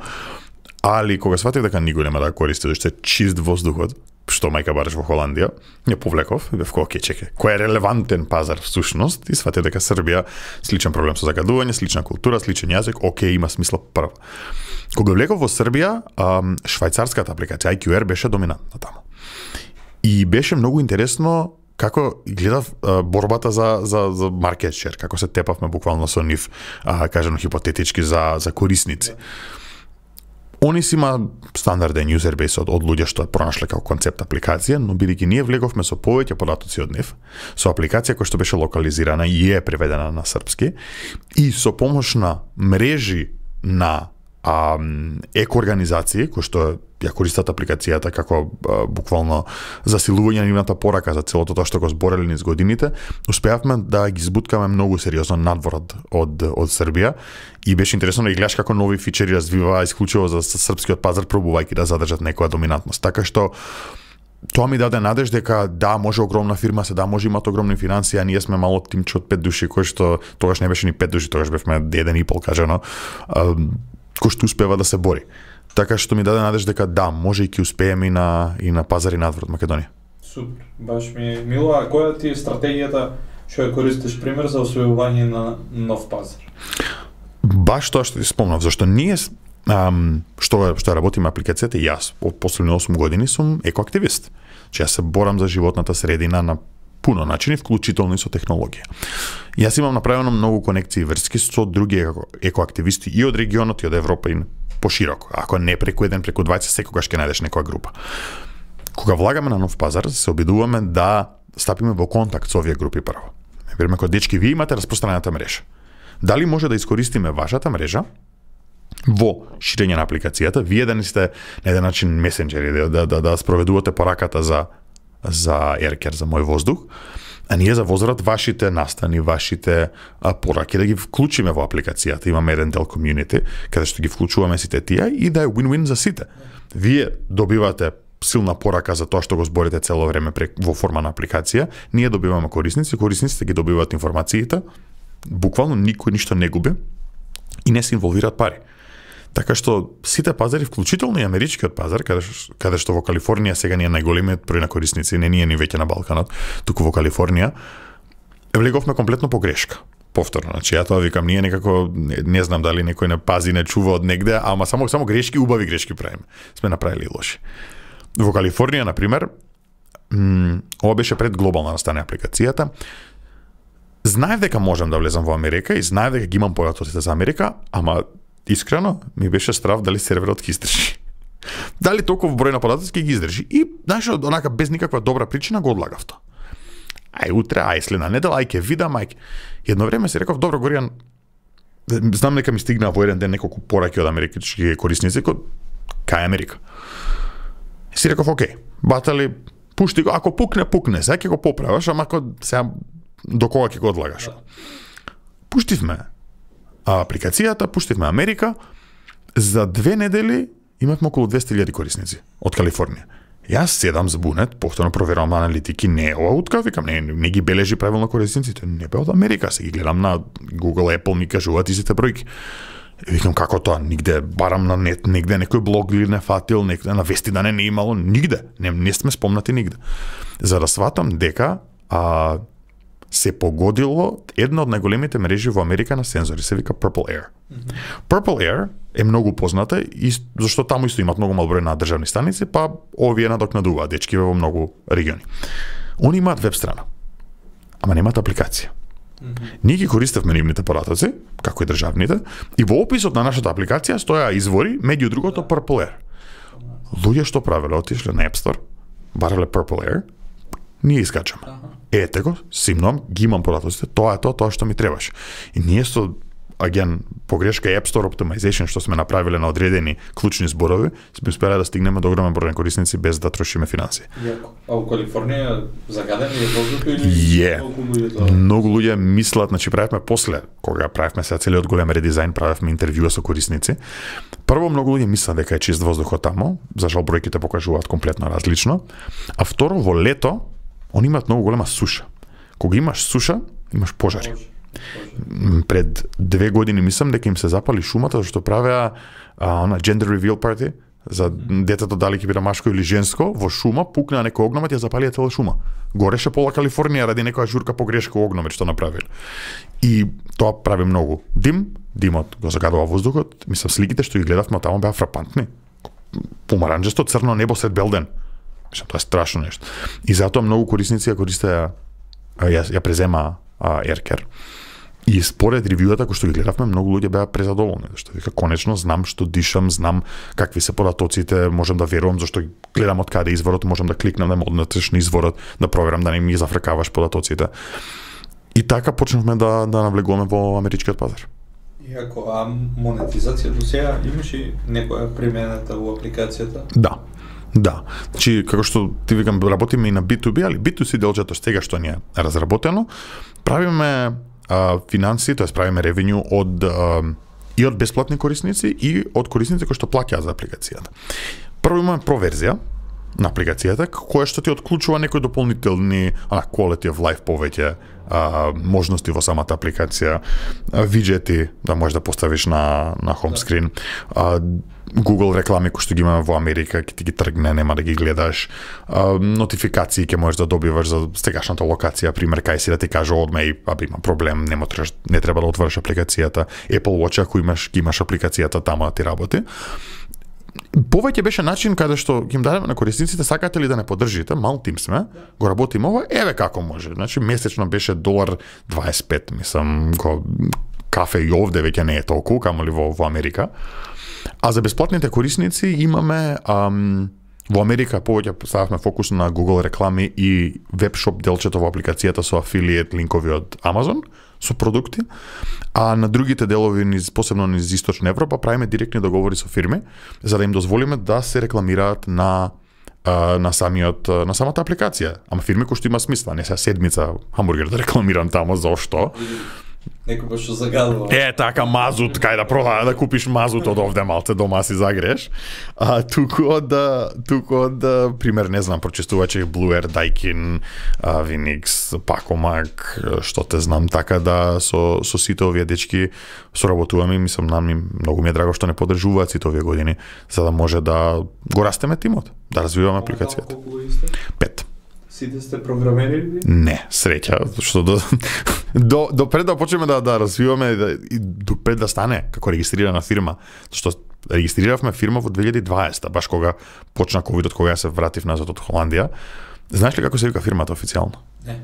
Али кога сватив дека никој нема да користи, зашто е чист воздухот, што мајка бараш во Холандија, ја повлеков, бев кој чеке, кој е релевантен пазар всушност, и сватив дека Србија сличен проблем со загадување, слична култура, сличен јазик, има смисла прво. Кога влеков во Србија, швајцарската апликација IQR беше доминантна таму. И беше многу интересно како гледав борбата за маркет шер, како се тепавме буквално со нив, кажано хипотетички за корисници. Они си има стандарден user base од луѓе што пронашле како концепт апликација, но бидејќи ние влеговме со повеќе податоци од нив, со апликација која што беше локализирана и е преведена на српски, и со помош на мрежи на екоорганизации кои што ја користат апликацијата како буквално засилување на нивната порака за целото тоа што го збореле низ годините, успеавме да ги збуткаме многу сериозно надвор од Србија и беше интересно да ги гледаш како нови фичери развиваа исклучиво за српскиот пазар, пробувајќи да задржат некоја доминантност. Така што тоа ми даде надеж дека да, може огромна фирма се, да, може имат огромни финансии, а ние сме мало тимче од 5 души, кој што тогаш не беше ни 5 души, тогаш бевме 1,5 кажано, кој што успева да се бори. Така што ми даде надеж дека да, може и ќе успееме и на пазари надвор од Македонија. Супер, баш ми мило, а која ти е стратегијата што ја користиш пример за освојување на нов пазар? Баш тоа што ти спомнав, зашто ние што работиме апликацијата, јас од последни 8 години сум екоактивист. Че јас се борам за животната средина на пуно начини, вклучително и со технологија. Јас имам направено многу конекции врски со други екоактивисти и од регионот и од Европа и пошироко. Ако не преку еден, преку 20, секогаш ќе најдеш некоја група. Кога влагаме на нов пазар, се обидуваме да стапиме во контакт со овие групи прво. Вериме како дечки, вие имате распространената мрежа. Дали може да искористиме вашата мрежа во ширење на апликацијата, вие да не сте на еден начин месенџери, да спроведувате пораката за Aircare, за мој воздух, а ние за возрат вашите настани, вашите пораки да ги вклучиме во апликацијата. Имаме еден дел community, каде што ги вклучуваме сите тие и да е win-win за сите. Вие добивате силна порака за тоа што го зборите цело време во форма на апликација, ние добиваме корисниците ги добиваат информациите, буквално никој ништо не губи и не се инволвираат пари. Така што сите пазари, вклучително и америчкиот пазар, каде што во Калифорнија сега ние најголемиот број на корисници, не ние ни веќе на Балканот, туку во Калифорнија, влеговме комплетно по грешка. Повторно, значи ја тоа викам, ние некако не знам дали некој не пази, не чува од негде, ама само грешки, убави грешки правиме. Сме направили и лоши. Во Калифорнија, например, ова беше пред глобална настане апликацијата. Знаев дека можам да влезам во Америка и знаев дека ги имам податоците за Америка, ама искрено ми беше страв дали серверот ќе издржи. Дали толку број на податоци ќе ги издржи. И знаеш, онака без никаква добра причина го одлагав тоа. ај утре, ај следна недела, ај ќе видам, ај. Едно време си реков, добро Горијан, знам дека ми стигна во еден ден неколку пораки од американски корисници кај Америка. И си реков, окей, батали, пушти го, ако пукне, сега ќе го поправаш, ама ако сега до кога ќе го одлагаш. Пуштивме апликацијата, пуштивме Америка, за 2 недели имавме околу 200.000 корисници од Калифорнија. Јас седам збунет, повторно проверувам аналитики, не ова утка, викам, не ги бележи правилно корисниците, не бе од Америка, се ги гледам на Google, Apple, ми кажуваат истите бројки. Викам, како тоа, нигде, барам на нет, негде некој блог или не фатил, некој на вести да не имало, нигде, не сме спомнати нигде. За да сватам дека се погодило една од најголемите мрежи во Америка на сензори, се вика Purple Air. Purple Air е многу позната и зашто таму исто имат многу мал број на државни станици, па овие надокнадуваат дечки во многу региони. Они имаат веб страна, ама немаат апликација. Ние ги користевме нивните поратоци, како и државните, и во описот на нашата апликација стоја извори, меѓу другото Purple Air. Луѓе што правеле, отишле на App Store, барале Purple Air, ние искачаме. Ете го, симнам, ги имам поратоците, тоа е тоа што ми требаше. И ние со погрешка App Store Optimization што сме направиле на одредени клучни зборови, сме успеле да стигнеме до огромен број на корисници без да трошиме финансии. А во Калифорнија загаден е воздухот или многу луѓе мислат, значи правевме после, кога правевме сега целиот голем редизајн, правевме интервјуа со корисници. Прво многу луѓе мислат дека е чист воздухот таму, за жал бројките покажуваат комплетно различно, а второ во лето они имаат многу голема суша. Кога имаш суша, имаш пожари. Пред 2 години мислам дека им се запали шумата зашто правеа gender reveal party за детето дали ќе биде машко или женско, во шума пукна некој огномет, ја запалија цела шума. Гореше пола Калифорнија ради некоја журка погрешка огномет што направиле. И тоа прави многу дим, димот го загадува воздухот, мислам сликите што ги гледавме таму беа фрапантни. Помаранџесто црно небо сред белден. Мислам, тоа е страшно нешто. И затоа многу корисници ја користеа, ја презема AirCare. И според ревјуата кои што ги гледавме, многу луѓе беа презадоволни, зашто вика конечно знам што дишам, знам какви се поратоците, можам да верувам зашто гледам од каде изворот, можам да кликнам да ме однесеш на изворот, да проверам да не ми зафркаваш поратоците. И така почнавме да навлегуваме во америчкиот пазар. Иако монетизација до сега имаше некоја примената во апликацијата? Да. Значи, како што ти викам, работиме и на B2B, али B2C делчето сега што ни е разработено, правиме финансии, тоа правиме ревенју и од бесплатни корисници и од корисници кои што плаќаат за апликацијата. Прво имаме проверзија на апликацијата, која што ти отклучува некои дополнителни quality of life повеќе, можности во самата апликација, виджети да можеш да поставиш на home screen, Google реклами кои што ги имаме во Америка, ќе ти ги тргне, нема да ги гледаш, нотификации ќе можеш да добиваш за сегашната локација, пример кај си да ти каже одма и има проблем, не треба да отвориш апликацијата, Apple Watch ако имаш апликацијата таму да ти работи. Повеќе беше начин каде што ги им дадеме на корисниците, сакате ли да не поддржите, мал тим сме, го работиме ова, еве како може. Значи месечно беше $1.25, мислам, кафе и овде веќе не е толку, камоли во Америка. А за бесплатните корисници имаме во Америка повеќе стававме фокус на Google реклами и вебшоп делчето во апликацијата со афилиет линкови од Amazon со продукти, а на другите делови, посебно низ Источна Европа, правиме директни договори со фирми за да им дозволиме да се рекламираат на самата апликација. Ама фирми кои што има смисла, не се седмица хамбургер да рекламирам таму, зошто? Некој што загадува. Така мазут, кај да продава да купиш мазут од овде малце дома си загреш. Туку од пример, не знам, прочистувачи Blue Air, Daikin, Vinix, Pacomag, што те знам, така да со сите овие дечки соработуваме, мислам многу ми е драго што не поддржуваат сите овие години, за да може да го растеме тимот, да развиваме апликацијата. 5. Сите сте програмери или? Не, среќа, што до пред да почнеме да развиваме и до пред да стане како регистрирана фирма, што регистриравме фирма во 2020, баш кога почна ковидот, кога се вратив назад од Холандија. Знаеш ли како се вика фирмата официјално? Не.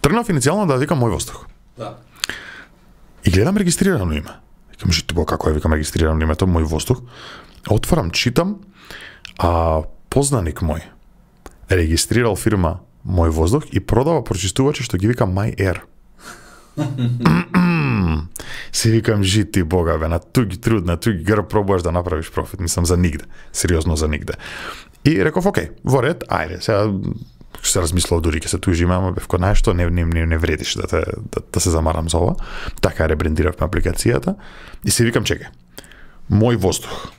Тргнав иницијално да викам Мој воздух. Да. И гледам регистрирано име. Викам, житбо, како е, викам регистрирано името Мој воздух. Отварам, читам, познаник мој регистрирал фирма мој воздух и продава прочистувачи што ги вика My Air. Си викам, жити бога бе, на туги труд, на туги грб пробуваш да направиш профит, мислам за нигде, сериозно за нигде. И реков, окей, во ред, ајде, сега се размислав дури ќе се тужиме, ама бев кој најшто не вредиш да се замарам за ова. Така ребрендиравме апликацијата и си викам, чекај, мој воздух.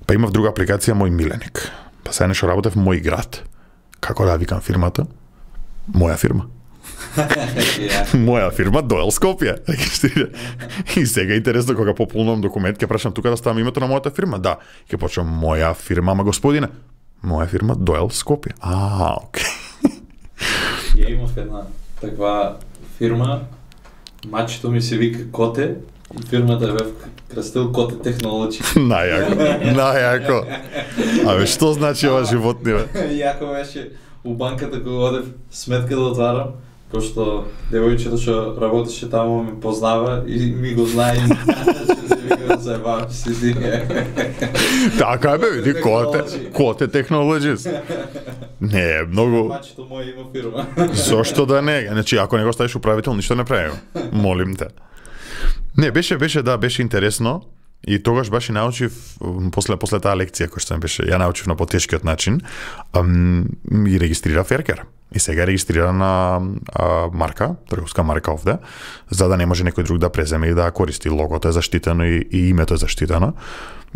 Па имав друга апликација, мој миленик. Па сега нешто работев мој град. Како да викам фирмата? Моја фирма. Моја фирма Доел Скопје. И сега интересно кога пополнувам документ, ќе прашам тука да ставам името на мојата фирма. Да, ќе почнам моја фирма, ама господине, моја фирма Доел Скопје. Окей. Ја имав една таква фирма, мачето ми се вика Коте, и фирмата е бев крстил Коте Технологи. Најако. Абе, што значи ова животни, бе? Јако беше у банката кога одев сметка да отварам, пошто девојчето што работеше таму ме познава и ми го знае и се вика да заебавам си. Така бе, види, Коте Технологис. Не, многу... Мачето мој има фирма. Зошто да не? Значи, ако не го ставиш управител, ништо не правим. Молим те. Не, беше интересно. И тогаш баш и научив, после таа лекција која што ми беше, ја научив на потешкиот начин, и регистрирав Еркер. И сега е регистрирана марка, трговска марка овде, за да не може некој друг да преземе и да користи. Логото е заштитено и името е заштитено.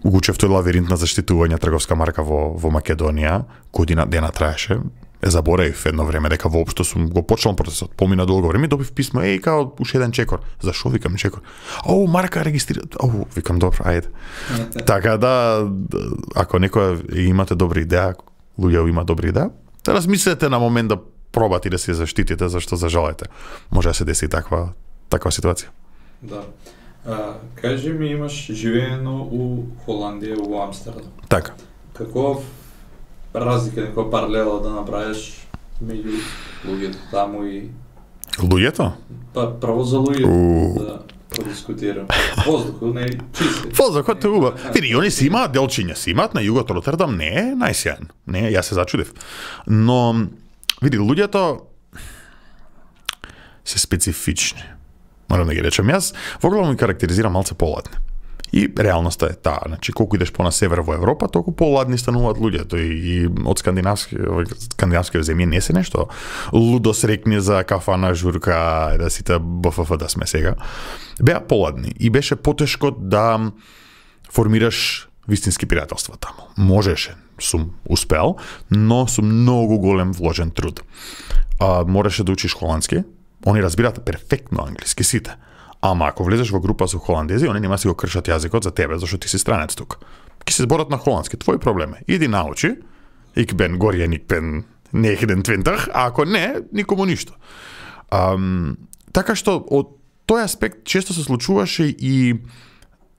Учев тој лавиринт на заштитување трговска марка во Македонија, година дена траеше. Заборавив едно време дека воопшто сум го почнал процесот. Помина долго време и добив писмо, као уште еден чекор. Зашо викам чекор? Марка регистрира. Викам добро, ајде. Така да, ако некој имате добра идеја, луѓе има добра идеја, да размислете на момент да пробате да се заштитите зашто зажалете. Може да се деси таква ситуација. Да. Кажи ми, имаш живеено у Холандија, у Амстердам. Така. Каков разлика, некоја паралела да направиш меѓу луѓето таму и... Луѓето? Па, право за луѓето да продискутирам. Воздухот не е чист. Воздухот е убав. Види, они си имаат делчиња, си имаат на југот Ротердам, не е најсјаен. Не, јас се зачудив. Но, види, луѓето се специфични. Морам да ги речем. Јас во главно ми карактеризирам малце поладни. И реалноста е таа, значи колку идеш по на север во Европа, толку поладни стануваат луѓето и од скандинавски земји не се нешто лудо срекни за кафана журка, да сите БФФ да сме сега. Беа поладни и беше потешко да формираш вистински пријателства таму. Можеше, сум успел, но со многу голем вложен труд. Мораше да учиш холандски, они разбираат перфектно англиски сите. Ама ако влезеш во група со холандези, они нема си го кршат јазикот за тебе, зашто ти си странец тук. Ки се зборат на холандски, твој проблем е. Иди научи, ik ben Gorjen, ik ben 29, а ако не, никому ништо. Така што од тој аспект често се случуваше и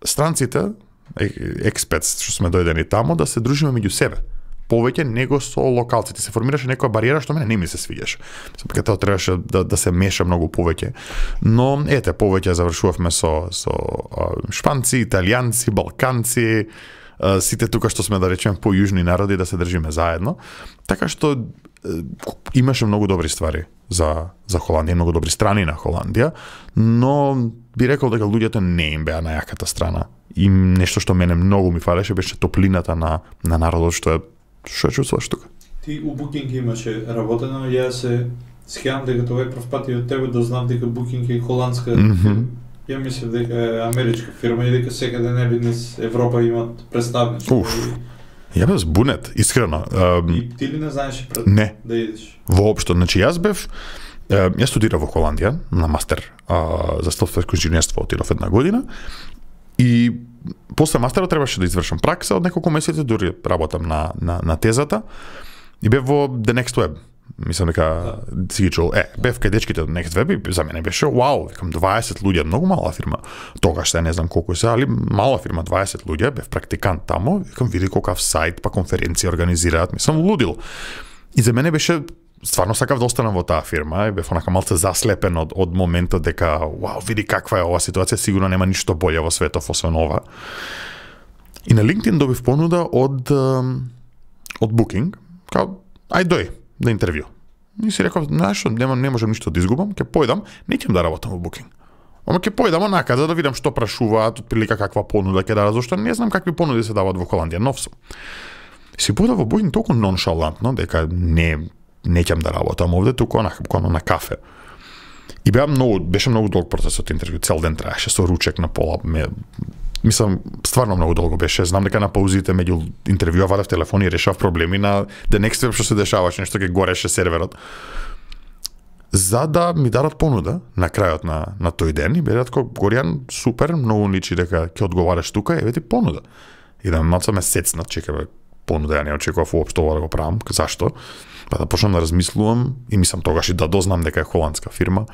странците, експетс што сме дојдени тамо, да се дружиме меѓу себе. Повеќе него со локалците. Се формираше некоја бариера што мене не ми се свиѓаше. Дека тоа требаше да се меша многу повеќе. Но ете, повеќе завршувавме со шпанци, италијанци, балканци, сите тука што сме да речеме појужни народи да се држиме заедно. Така што имаше многу добри ствари за Холандија, многу добри страни на Холандија, но би рекол дека луѓето не им беа на јаката страна. И нешто што мене многу ми фалеше беше топлината на народот што чувствуваш тука. Ти у Booking имаше работено, ја се схеам дека тоа е прв пат и од тебе да знам дека Booking е холандска. Ја мислев дека е америчка фирма и дека секаде нели низ Европа имаат представничество. Ја бев збунет, искрено. И ти ли не знаеш не. Да идеш? Воопшто, значи јас студирав во Холандија на мастер за софтверско инженерство, отидов една година и после мастерот требаше да извршам пракса од неколку месеци, дури работам на тезата и бев во The Next Web. Мислам дека си ги чул. Бев кај дечките од Next Web и за мене беше вау, викам 20 луѓе, многу мала фирма. Тогаш се не знам колку е, али мала фирма, 20 луѓе, бев практикант тамо, викам види колкав сајт, па конференција организираат, мислам лудил. И за мене беше стварно сакав да останам во таа фирма и бев онака малце заслепен од моментот дека вау, види каква е ова ситуација, сигурно нема ништо боле во светот освен ова. И на LinkedIn добив понуда од Booking, као ај дој да интервју. И си реков, знаеш што, не можам ништо да изгубам, ќе појдам, не ќе да работам во Booking. Ама ќе појдам онака за да видам што прашуваат, отприлика каква понуда ќе дадат, зашто не знам какви понуди се даваат во Холандија, нов сум. Си појдав во Booking толку ноншалантно дека не ќе да работам овде, туку буквално на кафе. И беше многу долг процесот интервју, цел ден траеше со ручек на пола. Мислам, стварно многу долго беше. Знам дека на паузите меѓу интервјуа вадев телефон и решав проблеми на the next step што се дешаваше, нешто ќе гореше серверот. За да ми дадат понуда на крајот на тој ден и бе ретко Горијан, супер, многу личи дека ќе одговараш тука, еве ти понуда. И да малку ме сецнат, чекаме понуда, ја не очекував уопшто ова да го правам. Зашто? Па да почнам да размислувам и мислам тогаш и да дознам дека е холандска фирма.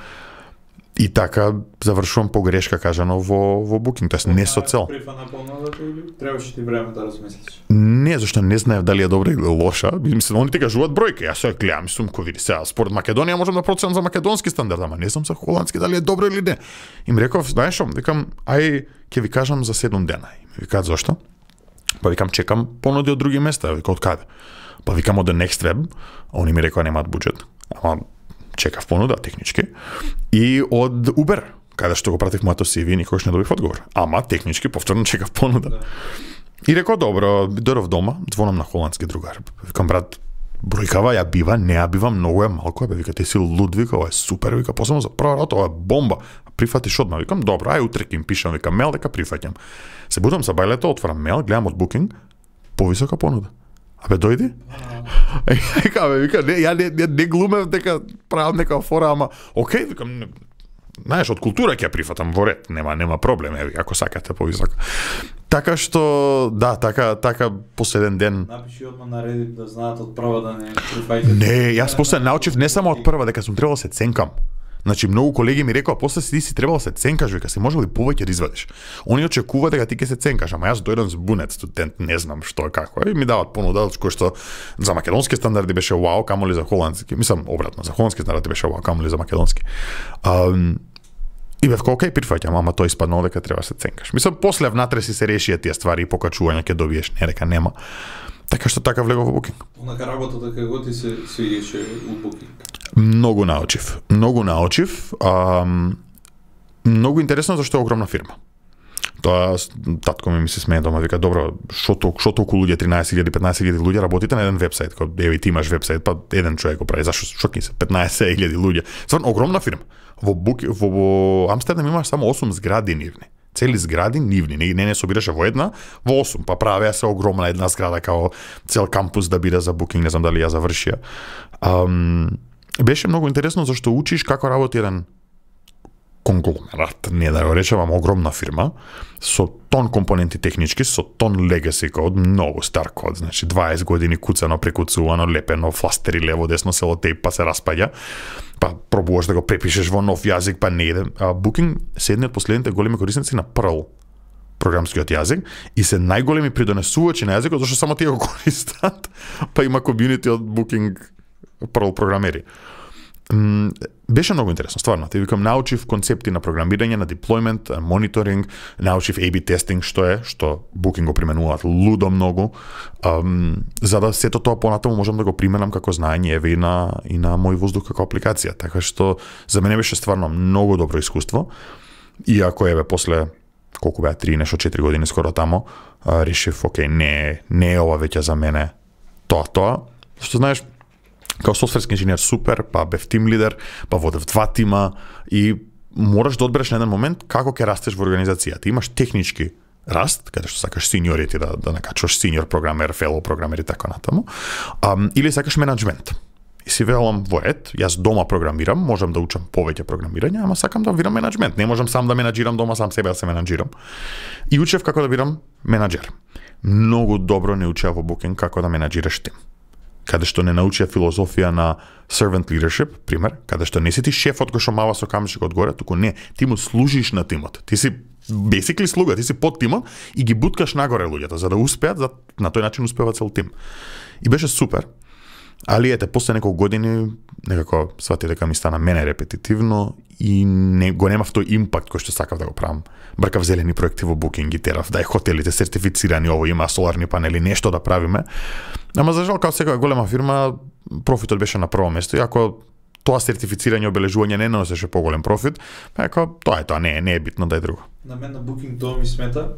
И така завршувам погрешка кажано во Booking, тоест не со цел. Прифана понудата или требаше ти време да размислиш? Не, зашто не знаев дали е добра или лоша. Мислам, они ти кажуваат бројки, јас се гледам, мислам, кој види сега, според Македонија можам да проценам за македонски стандард, ама не знам за холандски дали е добро или не. Им реков, знаеш што, викам, ај ќе ви кажам за 7 дена. И ми викаат зошто? Па викам, чекам понуди од други места, вика од каде? Па викам од The Next Web, они ми рекоа немаат буџет. Ама чекав понуда технички и од Uber, каде што го пратив моето CV и никогаш не добив одговор. Ама технички повторно чекав понуда. Да. И рекол добро, дојдов дома, звонам на холандски другар. Викам брат, бројкава ја бива, не ја бива, многу е малку, бе вика ти си луд, вика, ова е супер, вика, посебно за прва работа, ова е бомба. Прифатиш одма, викам добро, ај утре ќе им пишам, вика мел дека прифаќам. Се будам за бајлето, отварам мел, гледам од Booking, повисока понуда. Абе дојди? Вика, не глумев дека правам нека фора, ама окей, викам, знаеш, од култура ќе прифатам во ред, нема проблем, еви, ако сакате повисоко. Така што, да, така последен ден. Напиши одма на Reddit да знаат од прва да не прифаќате. Не, јас после научив не само од прва дека сум требал да се ценкам. Значи многу колеги ми рекоа после ти си требало се ценкаш, вика, се можел и повеќе да извадиш. Они очекува дека ти ќе се ценкаш, ама јас дојдам збунет студент, не знам што е како. И ми дават понуда кој што за македонски стандарди беше вау, камоли за холандски. Мислам обратно, за холандски стандарди беше вау, камоли за македонски. И бев окей, прифаќам, ама тој испаднало дека треба се ценкаш. Мислам после внатре си се решија тие ствари и покачување ќе добиеш, не дека нема. Така што така влегов во Booking. Онака работата како ти се свиѓаше у Booking? Многу научив. Многу интересно зашто е огромна фирма. Тоа татко ми се смее дома, вика добро, што толку луѓе, 13.000, 15.000 луѓе работите на еден вебсајт, кога еве ти имаш вебсајт, па еден човек го прави, зашто што ќе се 15.000 луѓе. Стварно огромна фирма. Во Амстердам имаш само 8 згради нивни. Цели згради нивни, не собираше во една, во 8, па правеа се огромна една зграда као цел кампус да биде за Booking, не знам дали ја завршија. Беше многу интересно зашто учиш како работи еден конгломерат, не да го речевам огромна фирма, со тон компоненти технички, со тон legacy код, многу стар код, значи 20 години куцано, прекуцувано, лепено, фластери лево, десно, селотейп, па се распаѓа, па пробуваш да го препишеш во нов јазик, па не иде. Booking се едни од последните големи корисници на Perl програмскиот јазик и се најголеми придонесувачи на јазикот, зашто само тие го користат, па има комјунити од Booking Perl програмери. Беше многу интересно, стварно. Те викам, научив концепти на програмирање, на деплојмент, мониторинг, научив A/B тестинг, што Booking го применуваат лудо многу, за да сето тоа понатаму можам да го применам како знаење еве и на мој воздух како апликација. Така што за мене беше стварно многу добро искуство. Иако еве после колку беа 3 нешто 4 години скоро тамо, решив окей, не е ова веќе за мене тоа. Што знаеш, као софтверски инженер супер, па бев тим лидер, па водев 2 тима и мораш да одбереш на еден момент како ќе растеш во организацијата. Имаш технички раст, каде што сакаш синьорити да накачуваш синьор програмер, фелоу програмер и така натаму, или сакаш менаџмент. И си велам во ред, јас дома програмирам, можам да учам повеќе програмирање, ама сакам да видам менаџмент. Не можам сам да менаџирам дома, сам себе да се менаџирам. И учев како да бидам менаџер. Многу добро не учеа во Booking како да менаџираш тим. Каде што не научија филозофија на servant leadership, пример, каде што не си ти шефот кој што мава со камшик одгоре, туку не, ти му служиш на тимот. Ти си basically слуга, ти си под тимот и ги буткаш нагоре луѓето за да успеат, на тој начин успева цел тим. И беше супер. Али ете, после неколку години некако свати дека ми стана мене репетитивно и го немав тој импакт кој што сакав да го правам. Бркав зелени проекти во Booking и терав, дај хотелите сертифицирани, ово има соларни панели, нешто да правиме. Ама за жал, како секоја голема фирма, профитот беше на прво место. И ако тоа сертифицирање и обележување не носеше поголем профит, ако тоа не е битно, дај друго. На мен на Booking тоа ми смета,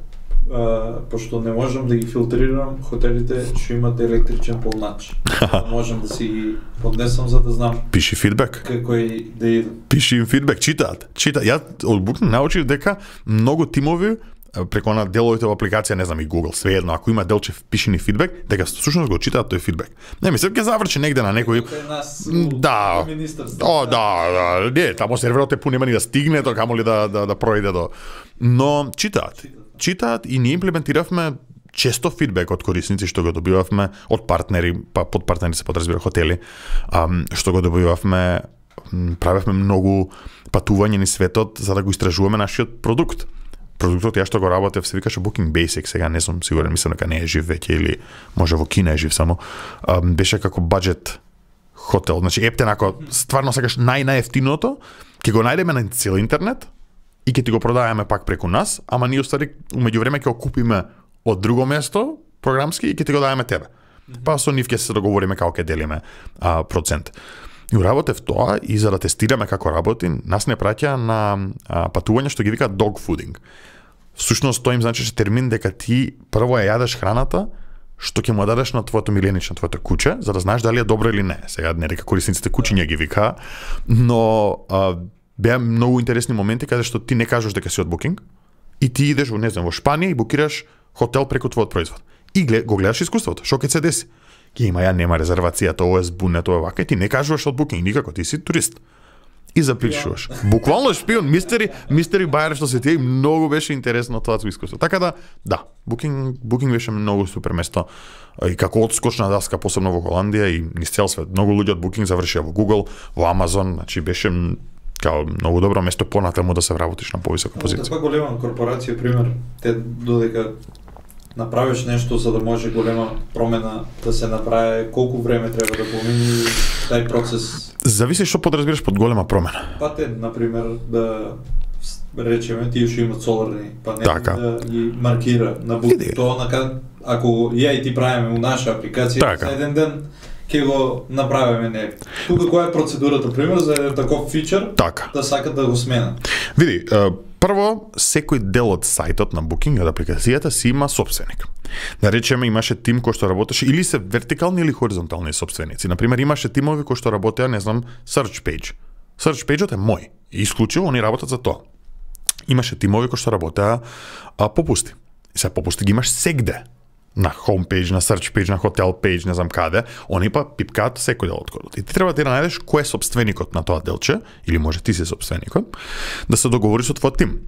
пошто не можам да ги филтрирам хотелите што имат електричен полнач. Можам да си ги поднесам за да знам. Пиши фидбек. Какој да иде. Пиши им фидбек, читаат. Ја од Booking научив дека многу тимови преку на деловите во апликација, не знам, и Google, svejedno, ако има делче пиши ни фидбек, дека всушност го читаат тој фидбек. Не, мислам ќе заврши негде на некој. Да. Не, тамо серверот е пун, нема ни да стигне, тоа камоли да проиде до. Но читаат и ние имплементиравме често фидбек од корисници што го добивавме од партнери, па под партнери се подразбира хотели, што го добивавме, правевме многу патување низ светот за да го истражуваме нашиот продукт. Продуктот ја што го работев се викаше Booking Basic, сега не сум сигурен, мислам дека не е жив веќе или може во Кина е жив само. Беше како баџет хотел, значи ептен ако стварно сакаш најефтиното, ќе го најдеме на цел интернет и ќе ти го продаваме пак преку нас, ама ние устари умеѓувреме ќе го купиме од друго место програмски и ќе ти го даваме тебе. Па со нив ќе се договориме како ќе делиме процент. И уработев тоа и за да тестираме како работи, нас не праќа на патување што ги вика dog fooding. Всушност тоа им значеше термин дека ти прво ја јадеш храната што ќе му дадеш на твоето миленич, на твоето куче, за да знаеш дали е добро или не. Сега не дека корисниците кучиња ги вика, но беа многу интересни моменти каде што ти не кажеш дека си од Booking и ти идеш во, не знам, во Шпанија и букираш хотел преку твојот производ. И го гледаш искуството, што ќе се деси. Ќе има нема резервацијата, ова е збунето, ова вака, и ти не кажуваш од Booking никако, ти си турист. И запишуваш. Буквално шпион, мистери бајер што се тие, многу беше интересно тоа искуство. Така да, Booking беше многу супер место и како одскочна даска, посебно во Холандија и низ цел свет. Многу луѓе од Booking завршија во Google, во Amazon, значи беше као многу добро место понатаму да се вработиш на повисока позиција. Таква голема корпорација, пример, те додека направиш нешто за да може голема промена да се направи, колку време треба да помине тај процес? Зависи што подразбираш под голема промена. Па те, например, да речеме тие што имат соларни панели, да ги маркира на Booking. Тоа ако ја и ти правиме у наша апликација, за еден ден ќе го направиме не. Тука која е процедурата, пример, за еден таков фичер да сакат да го сменат? Види, прво, секој дел од сајтот на Booking, од апликацијата, си има собственик. Да речеме, имаше тим кој што работеше или се вертикални или хоризонтални собственици. Например, имаше тимови кои што работеа, не знам, search page. Search page-от е мој. И исклучиво они работат за тоа. Имаше тимови кои што работеа попусти. И сега попусти ги имаш сегде. На homepage, на search page, на hotel page, не знам каде, они па пипкаат секој дел од кодот. И ти треба да најдеш кој е собственикот на тоа делче, или може ти си собственикот, да се договориш со твојот тим.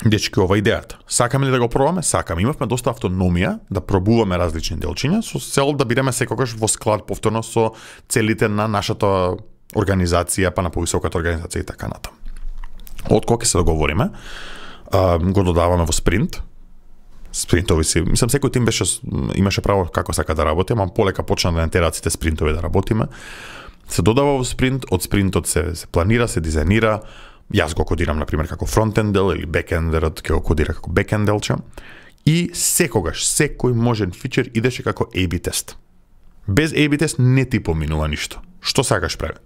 Дечки, ова идејата. Сакаме ли да го пробаме? Сакаме. Имавме доста автономија да пробуваме различни делчиња со цел да бидеме секогаш во склад повторно со целите на нашата организација, па на повисоката организација и така натаму. Од кога ќе се договориме, го додаваме во спринт. Спринтови си, мислам секој тим имаше право како сака да работи, ама полека почна да не тераат сите спринтови да работиме. Се додава во спринт, од спринтот се планира, се дизајнира. Јас го кодирам на пример како фронтенд дел или бекендерот ќе го кодира како бекенд делче. И секогаш секој можен фичер идеше како A/B тест. Без A/B тест не ти поминува ништо. Што сакаш прави?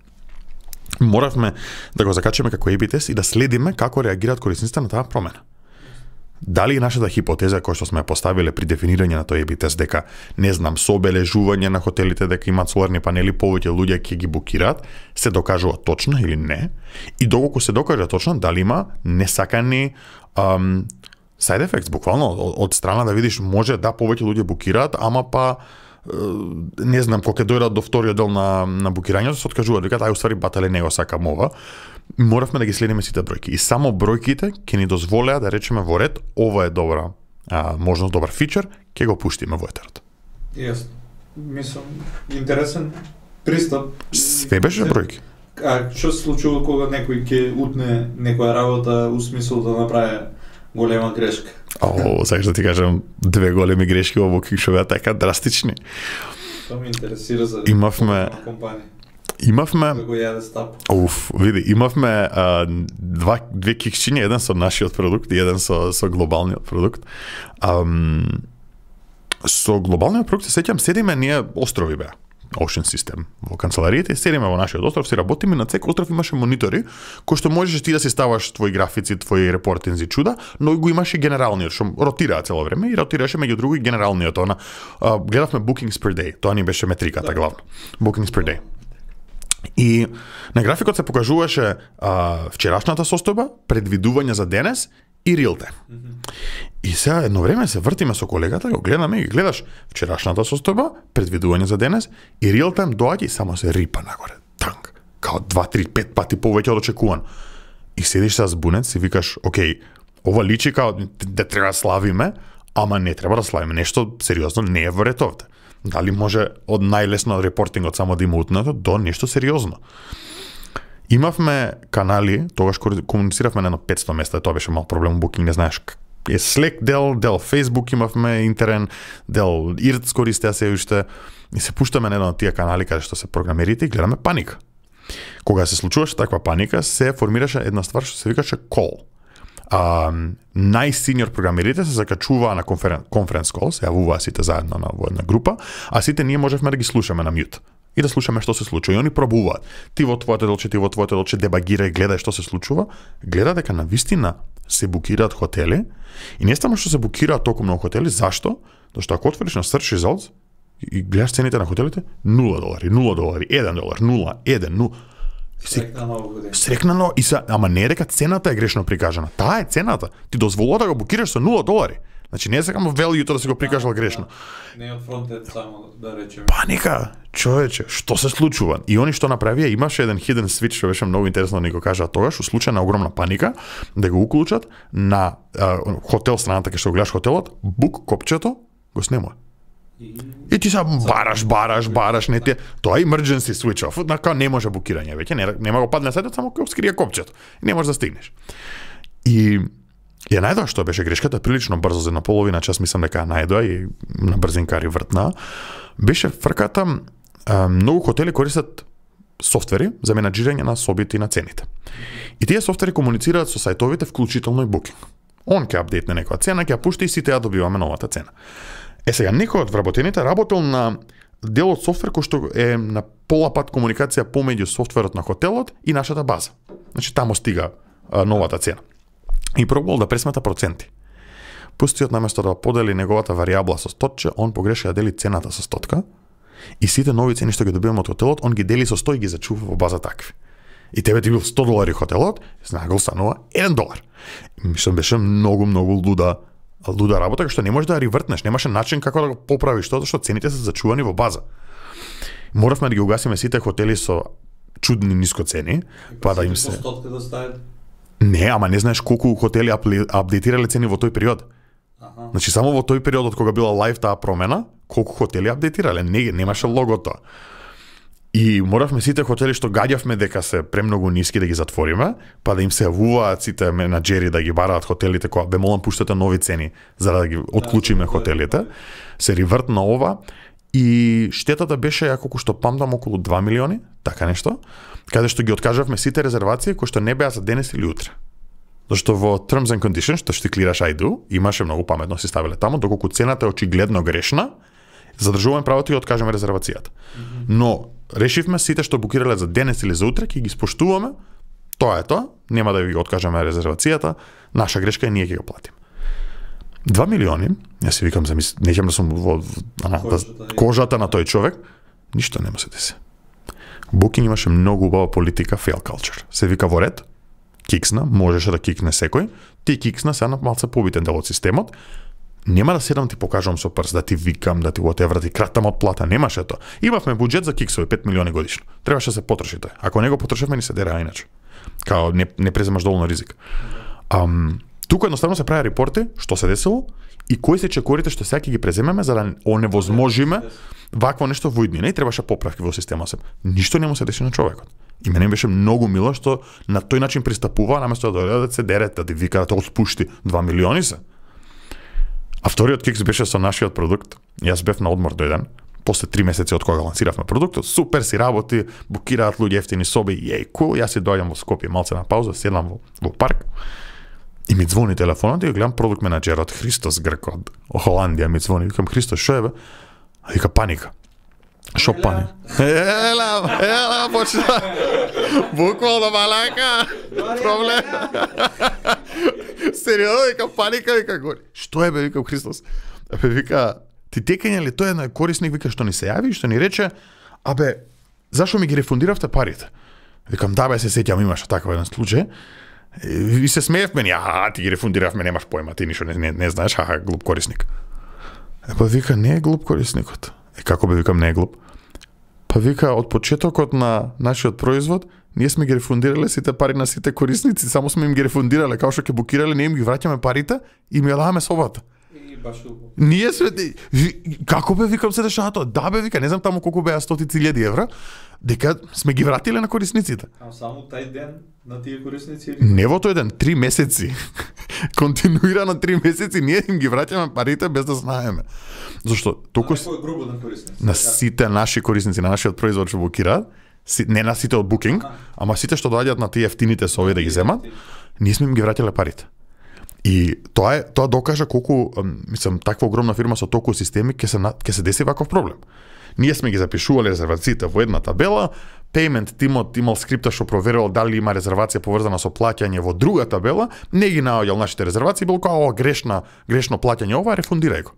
Моравме да го закачаме како A/B тест и да следиме како реагираат корисниците на таа промена. Дали нашата хипотеза која што сме поставиле при дефинирање на тој A/B тест дека не знам со обележување на хотелите дека имаат соларни панели повеќе луѓе ќе ги букираат, се докажува точно или не? И доколку се докаже точно, дали има несакани side effects, буквално од страна да видиш може да повеќе луѓе букираат, ама па не знам кога ќе дојдат до вториот дел на букирањето се откажуваат, викаат ај уствари батале не го сакам ова. Моравме да ги следиме сите бројки и само бројките ќе ни дозволеа да речеме во ред ова е добра можност, добар фичер, ќе го пуштиме во етерот. Јасно. Мислам интересен пристап. Све беше бројки. А што се случува кога некој ќе утне некоја работа у смисол да направи голема грешка? Сакаш да ти кажам две големи грешки во Booking што беа така драстични. Тоа ме интересира за имавме како јаде стап. Имавме две киксчиња, еден со нашиот продукт и еден со глобалниот продукт. Со глобалниот продукт се сеќам, седиме ние острови беа. Ocean System во канцелариите, седиме во нашиот остров, си работиме, на секој остров имаше монитори кои што можеш ти да си ставаш твои графици, твои репортинзи чуда, но го имаше генералниот што ротираа цело време и ротираше меѓу други генералниот. Гледавме bookings per day, тоа ни беше метриката главно. Bookings per day. И на графикот се покажуваше вчерашната состојба, предвидување за денес и real time. И сега едно време се вртиме со колегата, го гледаме и гледаш вчерашната состојба, предвидување за денес и real time доаѓа и само се рипа нагоре. Танк. Као 2, 3, 5 пати повеќе од очекувано. И седиш се збунет, си викаш, окей, ова личи као да треба да славиме, ама не треба да славиме. Нешто сериозно не е во ред овде. Дали може од најлесно репортингот само да има утнато до нешто сериозно. Имавме канали, тогаш комунициравме на 500 места, тоа беше мал проблем, Booking, не знаеш, е Slack дел Facebook имавме интерен, дел IRC користеа се уште, и се пуштаме на едно од тие канали каде што се програмерите и гледаме паника. Кога се случуваше таква паника, се формираше една ствар што се викаше call. Најсениор програмерите се закачуваа на конференц кол, се јавуваа сите заедно во една група, а сите ние можевме да ги слушаме на мјут и да слушаме што се случува. И они пробуваат. Ти во твоето делче, дебагирај, гледај што се случува, гледа дека навистина се букираат хотели и не само што се букираат толку многу хотели, зашто? Зашто ако отвориш на search results и гледаш цените на хотелите, $0, $1, $0, 1, 0. Срекнано и се, ама не е дека цената е грешно прикажана. Таа е цената. Ти дозволува да го букираш со $0. Значи не е сакамо value да си го прикажал грешно. Не од фронтенд само да речеме. Паника, човече, што се случува? И они што направија, имаше еден hidden switch што беше многу интересно да ни го кажа тогаш, во случај на огромна паника, да го уклучат на хотел страната кај што гледаш хотелот, бук копчето го снемува. И ти се бараш, не ти. Тоа е emergency switch off, така не може букирање веќе, нема го падне сајтот, само кога скрие копчето. Не можеш да стигнеш. И ја најдоа што беше грешката прилично брзо, за една половина час мислам дека ја најдоа и на брзинкари вртна. Беше фрката, многу хотели користат софтвери за менаџирање на собите и на цените. И тие софтвери комуницираат со сајтовите, вклучително и Booking. Он ќе апдейтне некоја цена, ќе ја пушти и сите ја добиваме новата цена. Сега, некој од вработените работел на дел од софтвер кој што е на пола пат комуникација помеѓу софтверот на хотелот и нашата база. Значи, тамо стига новата цена. И пробувал да пресмета проценти. Пустиот наместо да подели неговата варијабла со стотче, он погреши да дели цената со стотка и сите нови цени што ги добиваме од хотелот, он ги дели со 100 и ги зачува во база такви. И тебе ти бил $100 хотелот, знагол станува $1. Мислам, беше многу луда работа, што не можеш да ревртнеш, немаше начин како да го поправиш тоа, што цените се зачувани во база. Моравме да ги угасиме сите хотели со чудни ниско цени, па да им се Не, ама не знаеш колку хотели апдейтирале цени во тој период. Значи само во тој период од кога била лайв таа промена, колку хотели апдейтирале, немаше логото. И моравме сите хотели што гаѓавме дека се премногу ниски да ги затвориме, па да им се јавуваат сите менаџери да ги бараат хотелите кога бе молам пуштате нови цени за да ги отклучиме хотелите. Се ревртна ова и штетата беше, колку што памтам, околу 2 милиони, така нешто, каде што ги откажавме сите резервации кои што не беа за денес или утре. Зашто во Terms and Conditions, што ти клираш I do, имаше многу паметно си ставиле тамо, доколку цената е очигледно грешна, задржуваме правото и откажеме резервацијата. Но решивме сите што букирале за денес или за утре, ќе ги споштуваме. Тоа е тоа, нема да ви откажеме резервацијата, наша грешка е ние ќе го платиме. 2 милиони, јас си викам, неќам да сум во кожата на тој човек, ништо нема се деси. Booking имаше многу убава политика fail culture. Се вика во ред, киксна, можеше да кикне секој, ти киксна се на малце побитен дел од системот, нема да седам ти покажувам со прст, да ти викам, да ти whatever, да ти кратам од плата, немаше тоа. Имавме буџет за киксови 5 милиони годишно. Требаше да се потроши тој. Ако не го потрошевме, ни се дера иначе. Као не преземаш доволно ризик. Тука едноставно се прави репорти што се десило и кои се чекорите што сега ги преземеме за да оневозможиме вакво нешто во иднина и требаше поправки во системот. Ништо не му се деси на човекот. И мене беше многу мило што на тој начин пристапува, наместо да дојде да се дере, да ти вика да отпушти 2 милиони се. А вториот кикс беше со нашиот продукт. Јас бев на одмор дојден, после 3 месеци од кога лансиравме продуктот, супер си работи, букираат луѓе ефтини соби, cool, јас си доаѓам во Скопје малце на пауза, седам во парк. И ми звони телефонот и гледам продукт менаџерот Христос Грк од Холандија ми звони, викам Христос, шо е бе? А вика паника. Шо паника? Ела, почна. Буквално малака. Проблем. Сериозно, вика паника, вика гори. Што е бе, викам Христос? Абе вика, ти текање ли тој еден корисник, вика што ни се јави, што ни рече, абе, зашо ми ги рефундиравте парите? Викам, да бе, се сеќам, имаше таков еден случај. И се смеев мене, ти ги рефундиравме, немаш појма, ти ништо не знаеш, глуп корисник. Па вика, не е глуп корисникот. Како бе, викам, не е глуп? Па вика, од почетокот на нашиот производ, ние сме ги рефундирале сите пари на сите корисници, само сме им ги рефундирале, као што ќе букирале, ние им ги враќаме парите и ми ја даваме собата. Ние сме... Како бе, викам, се дешава тоа? Да бе, вика, не знам таму колку беа стотици илјади евра, дека сме ги вратиле на корисниците. А само тај ден на тие корисници? Не во тој ден, 3 месеци. Континуирано 3 месеци ние им ги враќаме парите без да знаеме. Зашто толку на сите наши корисници на нашиот производ што букираат, не на сите од Booking, ама сите што доаѓаат на тие ефтините сови да ги земат, ние сме им ги враќале парите. И тоа докажа колку, мислам, таква огромна фирма со толку системи ќе се деси ваков проблем. Ние сме ги запишувале резервациите во една табела, payment тимот имал скрипта што проверувал дали има резервација поврзана со плаќање во друга табела, не ги наоѓал нашите резервации, бил као грешно плаќање ова, рефундирај го.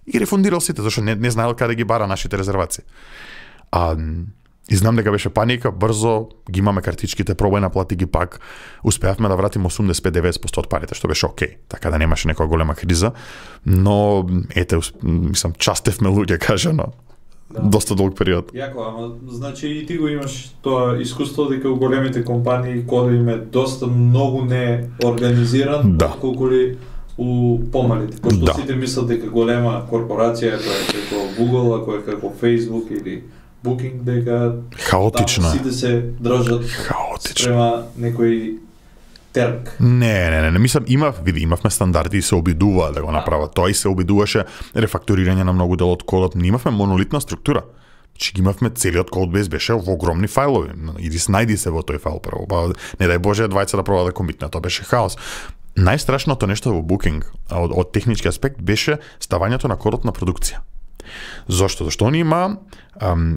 И рефундирал сите, зашто не знаел каде ги бара нашите резервации. И знам дека беше паника, брзо ги имаме картичките, пробај наплати ги пак, успеавме да вратиме 85-90% од парите, што беше окей, така да немаше некоја голема криза, но ете, мислам, частевме луѓе, кажано, доста долг период. Јако, ама значи и ти го имаш тоа искуство дека у големите компании кодот им е доста многу не организиран, колку ли у помалите, пошто сите мислат дека голема корпорација која е како Google, која е како Facebook или Booking, дека хаотично сите се држат спрема некој терк. Не, мислам, имавме стандарди и се обидуваа да го направат. Тоа и се обидуваше рефакторирање на многу дел од кодот. Не имавме монолитна структура. Че ги имавме целиот кодбейс беше во огромни фајлови. Иди снајди се во тој файл прво. Па не дај Боже двајца да проба да комитнат, тоа беше хаос. Најстрашното нешто во Booking од технички аспект беше ставањето на кодот на продукција. Зошто? Зашто они има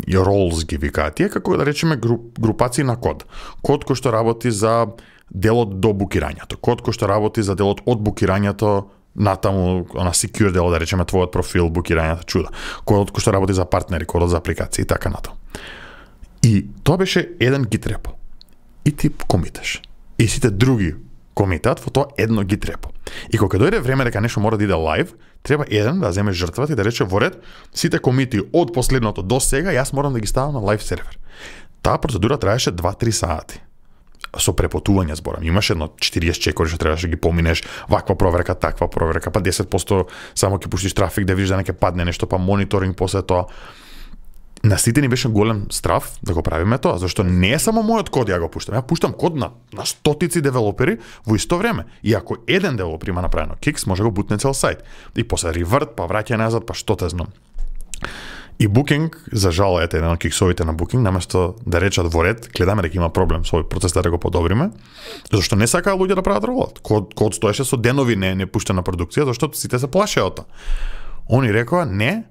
и roles ги викаат тие, како да речеме групации на код. Код кој што работи за делот до букирањето, код кој што работи за делот од букирањето натаму, на secure дело, да речеме твојот профил, букирањето, чуда. Кодот кој што работи за партнери, кодот за апликации и така натаму. И тоа беше еден гит репо. И ти комиташ. И сите други комитат во тоа едно гит репо. И кога дојде време дека нешто мора да иде лайв, треба еден да земе жртвата и да рече во ред сите комити од последното до сега јас морам да ги ставам на лайв сервер. Таа процедура траеше 2-3 сати. Со препотување зборам. Имаше едно 40 чекори што требаше да ги поминеш, ваква проверка, таква проверка, па 10% само ќе пуштиш трафик да видиш да не ќе падне нешто, па мониторинг после тоа. На сите ни беше голем страф да го правиме тоа, зашто не е само мојот код ја го пуштам. Ја пуштам код на стотици девелопери во исто време. И ако еден девелопер има направено кикс, може да го бутне цел сајт. И после реверт, па враќа назад, па што те знам. И Booking, за жал, ете еден од киксовите на Booking, наместо да речат во ред, гледаме дека има проблем со овој процес да го подобриме, зашто не сакаа луѓе да прават ролот. Код стоеше со денови не пуштена продукција, зашто сите се плашеа од тоа. Они рекоа не,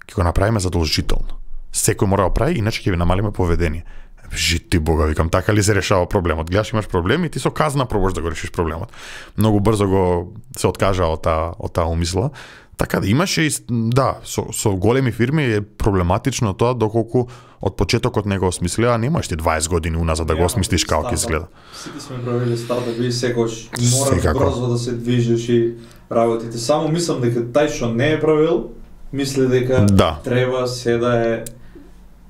ќе го направиме задолжително. Секој мора да прави, иначе ќе ви намалиме поведение. Жити Бога, викам, така ли се решава проблемот? Гледаш, имаш проблем и ти со казна пробаш да го решиш проблемот. Многу брзо го се откажа од таа умисла. Така да имаше и со големи фирми е проблематично тоа доколку од почетокот не го осмислија, немаш ти 20 години уназад да го осмислиш како ќе изгледа. Сите сме правили стартапи и секош мора брзо да се движиш и работите. Само мислам дека тај што не е правил, мисли дека треба се да е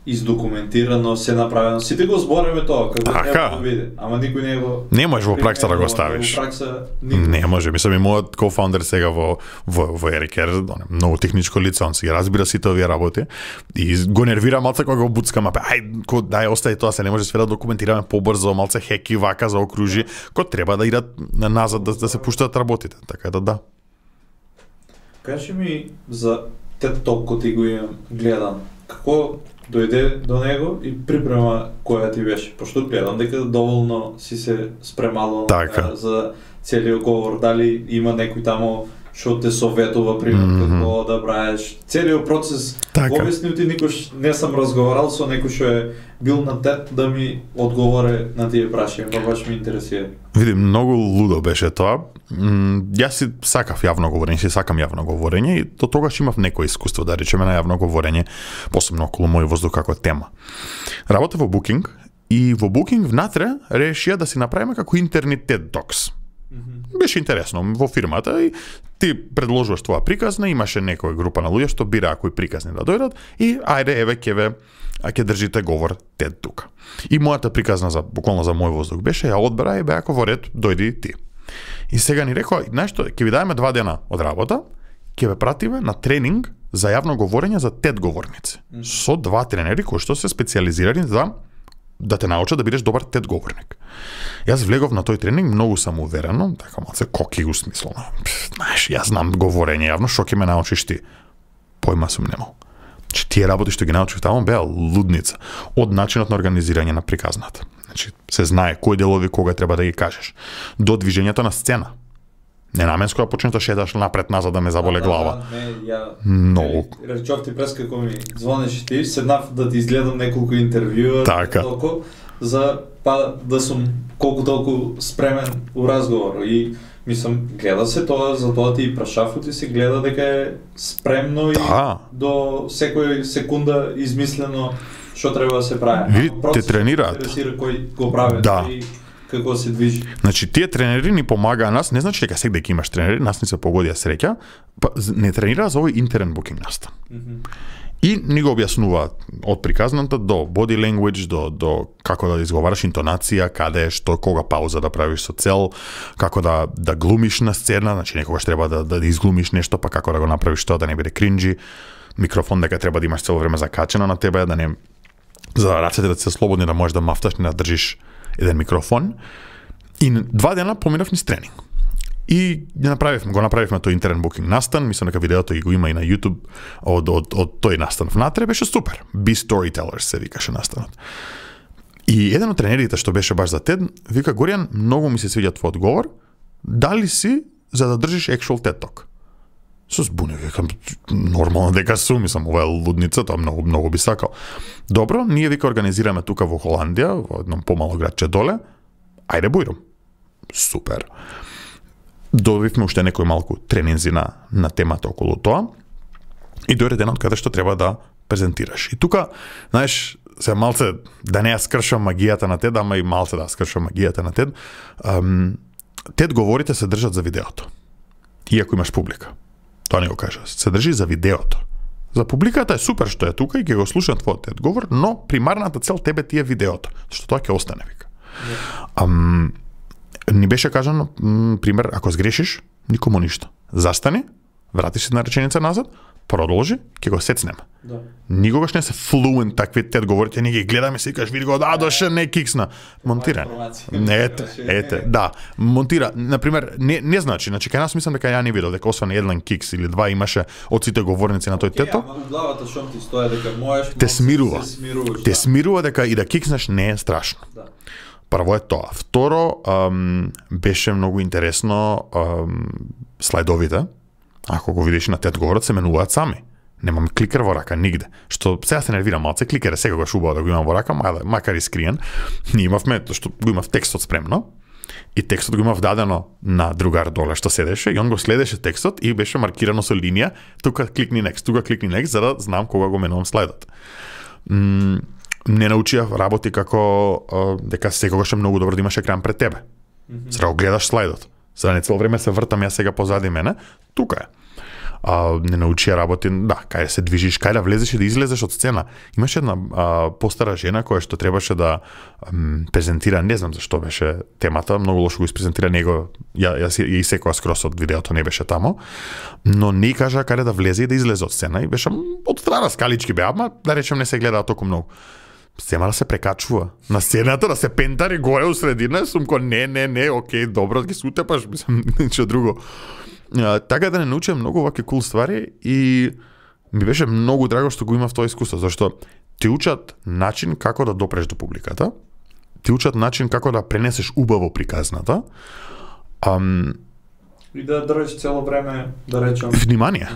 издокументирано, се направено. Сите го збореме тоа, како треба да биде, ама никој не го... Не можеш во пракса да го ставиш. Не може, мислам и мојот кофаундер сега во Ерикер, многу техничко лице, он си разбира сите овие работи и го нервира малце кога го буцкам, дај остај тоа, се не може све да документираме побрзо, малце хеки вака за окружи, кој треба да идат назад да се пуштат работите, така да. Кажи ми за TED Talk кој ти го имам гледан. како дојде до него и припрема која ти беше, пошто гледам дека доволно си се спремало за целиот говор, дали има некој тамо што те советува, пример, како да правиш. Целиот процес, обяснил ти никош не сам разговарал со некој што е бил на TED да ми одговоре на тие прашања, па баш ми интересира. Види, многу лудо беше тоа. Јас си сакав јавно говорење, си сакам јавно говорење и до тогаш имав некој искуство, да речеме, на јавно говорење, посебно околу мој воздух како тема. Работев во Booking и во Booking внатре решија да си направиме како интерни TED Talks. Беше интересно во фирмата и ти предложуваш твоја приказна, имаше некоја група на луѓе што бираа кои приказни да дојдат и ајде еве ќе држите говор TED тука. И мојата приказна буквално за мој воздух беше, ја одбра и бе ако во ред дојди ти. И сега ни рекоа, знаеш што, ќе ви дадеме 2 дена од работа, ќе ве пратиме на тренинг за јавно говорење за TED говорници. Со 2 тренери кои што се специјализирани за да те научат да бидеш добар TED говорник. Јас влегов на тој тренинг многу самоуверено, така малце коки усмислено. Знаеш, јас знам говорење јавно, што ќе ме научиш ти? Појма сум немал. Че тие работи што ги научив таму беа лудница од начинот на организирање на приказната. Значи, се знае кои делови кога треба да ги кажеш. До движењето на сцена. Ненаменско да почнеш да шеташ напред-назад да ме заболе глава. Многу. Речов ти прес како ми звонеш ти, седнав да ти изгледам неколку интервјуа, толку за да сум колку толку спремен у разговор и мислам, гледа се тоа, за тоа ти и прашав, ти се гледа дека е спремно и до секој секунда измислено што треба да се прави. Те тренираат. Интересира кој го прави и како се движи. Значи, тие тренери ни помагаа нас, не значи дека секој имаш тренери, нас ни се погодија среќа, не тренираа за овој интерен букинг настан. И ни го објаснуваат од приказната до body language, до како да изговараш интонација, каде, што, кога пауза да правиш со цел, како да глумиш на сцена, значи некогаш треба да изглумиш нешто, па како да го направиш тоа да не биде кринџи, микрофон дека треба да имаш цело време закачено на тебе, да не за рацете да се слободни да можеш да мафташ, не да држиш еден микрофон. И 2 дена поминав низ тренинг. И го направивме тој интерен букинг настан, мислам дека видеото го има и на YouTube од тој настан внатре, беше супер. Be Storytellers се викаше настанот. И еден од тренерите што беше баш за TED, вика: Горијан, многу ми се свиѓа твој одговор, дали си за да држиш actual TED Talk? Со збуне, викам, нормално дека сум, мислам, ова е лудница, тоа многу би сакал. Добро, ние вика организираме тука во Холандија, во едном помало градче доле, ајде бујром. Супер. Добивме уште некој малку тренинзи на темата околу тоа и дојде денот каде што треба да презентираш. И тука, знаеш, се малце да не ја скршам магијата на TED, ама и малце да скршам магијата на TED. TED говорите се држат за видеото. Иако имаш публика. Тоа не го кажа. Се држи за видеото. За публиката е супер што е тука и ќе го слушам твојот TED говор, но примарната цел тебе ти е видеото, што тоа ќе остане, вика. Ни беше кажано, пример, ако сгрешиш, никому ништо. Застани, вратиш се на реченица назад, продолжи, ќе го сецнеме. Да. Никогаш не се флуент такви TED говорите, не ги гледаме се и кажеш, види го, доше, не киксна. Монтира. Ете, да. Монтира, например, не значи кај нас мислам дека ја не видел дека освен еден кикс или 2 имаше од сите говорници на тој TED Talk. Ама главата шом ти стоја дека можеш, те смирува дека и да кикснеш не е страшно. Да. Прво е тоа. Второ, беше многу интересно слайдовите. Ако го видиш на TED говорот, се менуваат сами. Немам кликер во рака нигде. Што сега се нервирам малце, кликер е секогаш убаво да го имам во рака, макар и скриен. Ние имавме, што го имав текстот спремно, и текстот го имав дадено на другар доле што седеше, и он го следеше текстот и беше маркирано со линија, тука кликни next, за да знам кога го менувам слайдот. Не научија работи како дека секогаш е многу добро да имаш екран пред тебе. За да го гледаш слайдот. За да не цело време се вртам ја сега позади мене, тука е. Не научија работи, да, кај се движиш, кај да влезеш и да излезеш од сцена. Имаше една постара жена која што требаше да презентира, не знам зашто беше темата, многу лошо го испрезентира него, ја исекоа скрос од видеото, не беше тамо, но не кажа каде да влезе и да излезе од сцена и беше од страна скалички беа, ама да речем не се гледаа толку многу. Сема да се прекачува на сцената, да се пентари горе у средина, сум ко не, окей, добро, ги се утепаш, мислам, ничего друго. Така да не научам многу ваки кул ствари и ми беше многу драго што го имав тоа искуство, зашто ти учат начин како да допреш до публиката, ти учат начин како да пренесеш убаво приказната, и да држиш цело време, да речам, внимание